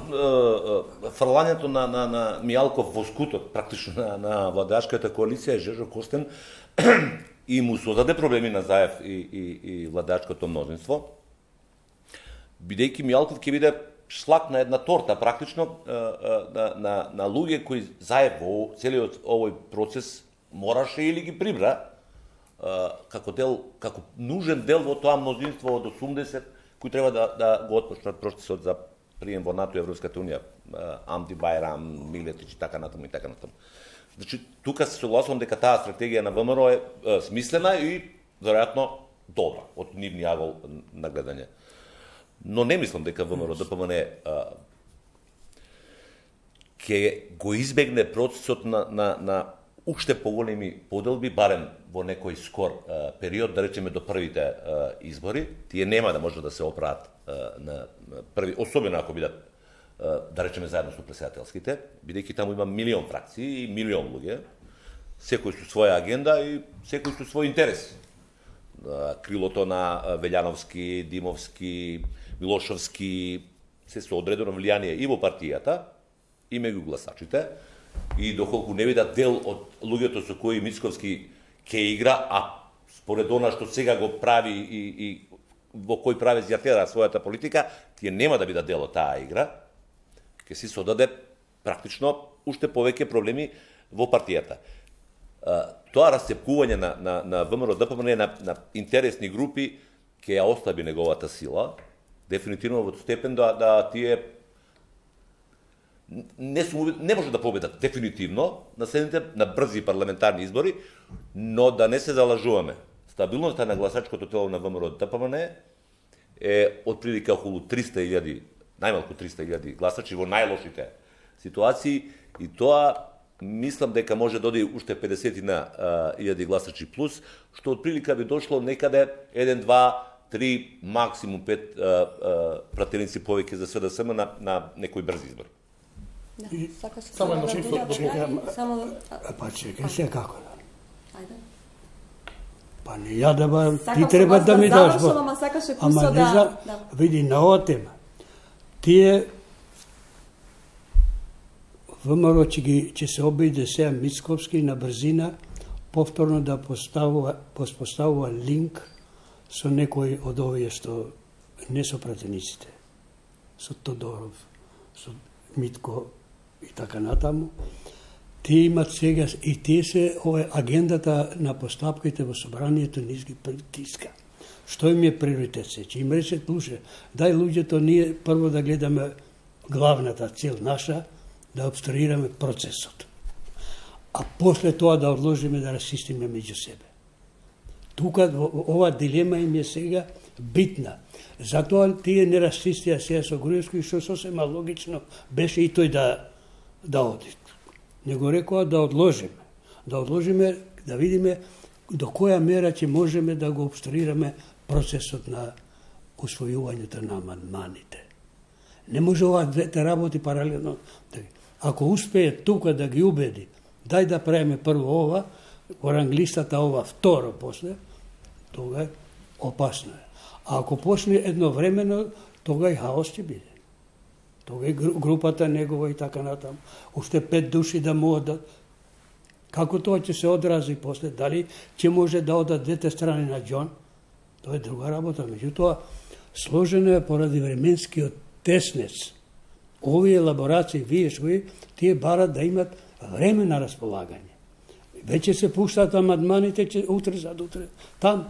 Фрлањето на, на, на Мијалков во скутот, практично на, на владачката коалиција, Жежо Костен, и му создаде проблеми на Заев и, и, и владачкото мнозинство, бидејќи Мијалков ќе биде шлак на една торта, практично, на, на, на луѓе кои Заев во целиот овој процес мораше или ги прибра како дел, како нужен дел во тоа мнозинство од осумдесет, кои треба да, да го отпочнат процесот за прием во НАТО и Европската унија, Амди Байрам, Милетич и така натаму и така натаму. Значи, тука се согласувам дека таа стратегија на ВМРО е, е смислена и веројатно добра од нивни агол на гледање. Но не мислам дека ВМРО ДПМН ќе го избегне процесот на, на, на уште поголеми поделби, барем во некој скор а, период, да речеме до првите а, избори. Тие нема да може да се оправат а, на први, особено ако бидат, а, да речеме, заедно со претседателските, бидејќи таму има милион фракции и милион луѓе, секој со своја агенда и секој со свој интерес. А, крилото на Велјановски, Димовски, Милошовски, се со одредено влијание и во партијата, и меѓу гласачите, и доколку не бидат дел од луѓето со кои Мицковски ќе игра, а според она што сега го прави и, и во кој прави зјатера својата политика, тие нема да бидат дел од таа игра, ќе си содаде практично уште повеќе проблеми во партијата. Тоа расцепкување на, на, на ВМРО-ДПМН на, на интересни групи ќе ја ослаби неговата сила, дефинитивно во степен да, да тие не, су, не може да победат дефинитивно на следните на брзи парламентарни избори, но да не се залажуваме. Стабилноста на гласачкото тело на ВМРО-ДПМН е отприлика околу триста илјади, најмалку триста илјади гласачи во најлошите ситуации, и тоа мислам дека може да оди уште педесет илјади гласачи плюс, што отприлика би дошло некаде еден, два, три, максимум пет пратеници повеќе за СДСМ на, на некои брзи избори. Да, сакаш само едно да чифо, да само Па чекај се како да. Ајде. Па не ја да ба, Сакам ти треба да ми даш. завршам, ама сакаше Ама кусо не да, за, да. види на оваа тема. Тие ВМРО ќе ги ќе се обиде сега Мицковски на брзина повторно да поставува поставува линк со некој од овие што не со пратениците, со Тодоров, со Митко и така натаму. Тие имат сега и тие се ова агендата на постапките во собранието низ ги притиска. Што им е приоритет се? Че им рече, слуше, дај луѓето ние прво да гледаме главната цел наша, да обструираме процесот. А после тоа да одложиме да расистиме меѓу себе. Тука ова дилема им е сега битна. Затоа тие не расистија сега со Груевски, што сосема логично беше и тој да да оди. Не го рекоа да одложиме. Да одложиме, да видиме до која мера ќе можеме да го обструираме процесот на усвојувањето на амандманите. Не може ова двете работи паралелно. Ако успее тука да ги убеди, дај да правиме прво ова, во ранглистата ова второ после, тога е опасно е. А ако почне едновремено, тога и хаос ќе биде. Тога и групата негова и така натаму. Уште пет души да могат да... Како тоа ќе се одрази после? Дали ќе може да одат двете страни на Џон? Тоа е друга работа. Меѓутоа, сложено е поради временскиот теснец. Овие елаборации, вие што тие барат да имат време на располагање. Веќе се пуштаат амандманите, че утре зад утре там.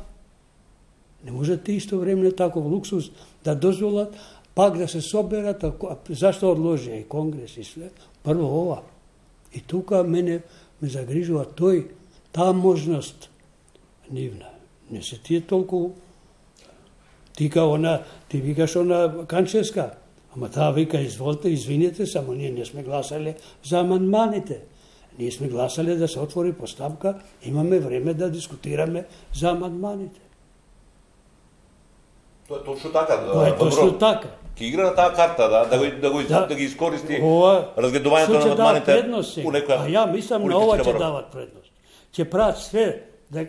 Не можете исто време таков луксус да дозволат, пак да се соберат, зашто одложија и Конгрес и све, прво ова. И тука мене ме загрижува тој, таа можност нивна. Не се тие толку, ти као она, ти викаш она Канческа, ама таа вика, изволите, извините, само ние не сме гласале за амандманите. Ние сме гласале да се отвори постапка, имаме време да дискутираме за амандманите. Тоа е точно така. Тоа е точно така. Ке игра на таа карта, да, да, го, да, го, да, да ги искористи разгледувањето на амандманите у некоја... А ја мислам на ова ќе дават предност. Ќе прават све да,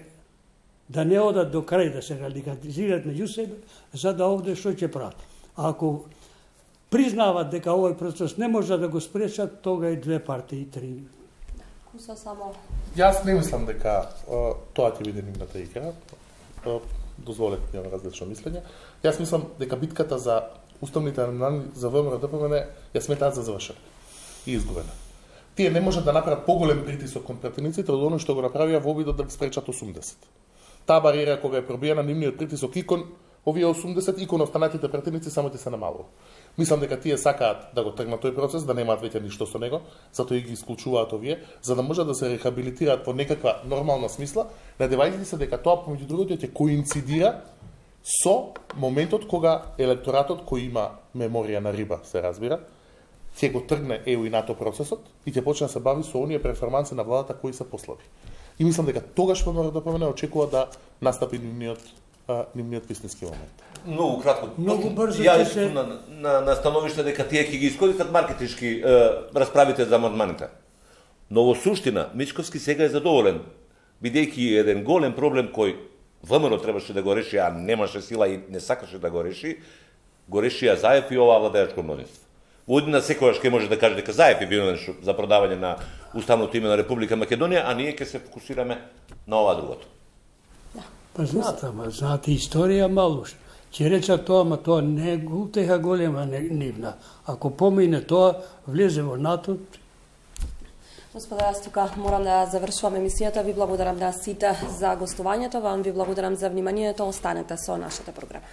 да не одат до крај, да се радикализираат меѓу себе, за да овде што ќе прават. А ако признават дека овој процес не може да го спречат, тога и две партии, три. Куса само... Јас не мислам дека uh, тоа ќе биде нивната игра. Uh, дозволете ми имам различно мислење. Јас мислам дека битката за уставните амандмани за ВМРО-ДПМН ја сметаат за завршена и изгубена. Тие не можат да направат поголем притисок кон пратениците од оно што го направија во обидот да ги спречат осумдесет. Таа бариера кога е пробиена нивниот притисок и кон овие осумдесет и кон останатите пратеници само ќе се намалува. Мислам дека тие сакаат да го тргнат тој процес, да немаат веќе ништо со него, затоа и ги исклучуваат овие, за да можат да се рехабилитираат во некаква нормална смисла, надевајќи се дека тоа помеѓу другото ќе коинцидира со моментот кога електоратот кој има меморија на риба, се разбира, ќе го тргне е у и НАТО процесот и ќе почне да се бави со оние перформанси на владата кои се послаби. И мислам дека тогаш во Народна помена очекува да настапи нивниот а, нивниот вистински момент. Многу кратко. Многу брзо ја ќе се на, на, на становиште дека тие ќе ги искористат маркетички е, расправите за амандманите. Но во суштина Мичковски сега е задоволен, бидејќи еден голем проблем кој ВМРО требаше да го реши, а немаше сила и не сакаше да го реши, го решија Заев и оваа владеачко мнозинство. Во одина секогаш ќе може да каже дека Заев е виновен за продавање на уставното име на Република Македонија, а ние ќе се фокусираме на ова другото. Па знаате, ама знаате историја малуш. Ќе речат тоа, ама тоа не е утеха голема нивна. Ако помине тоа, влезе во НАТО. Господа, јас тука морам да завршувам емисијата. Ви благодарам на сите за гостувањето, вам ви благодарам за вниманието. Останете со нашата програма.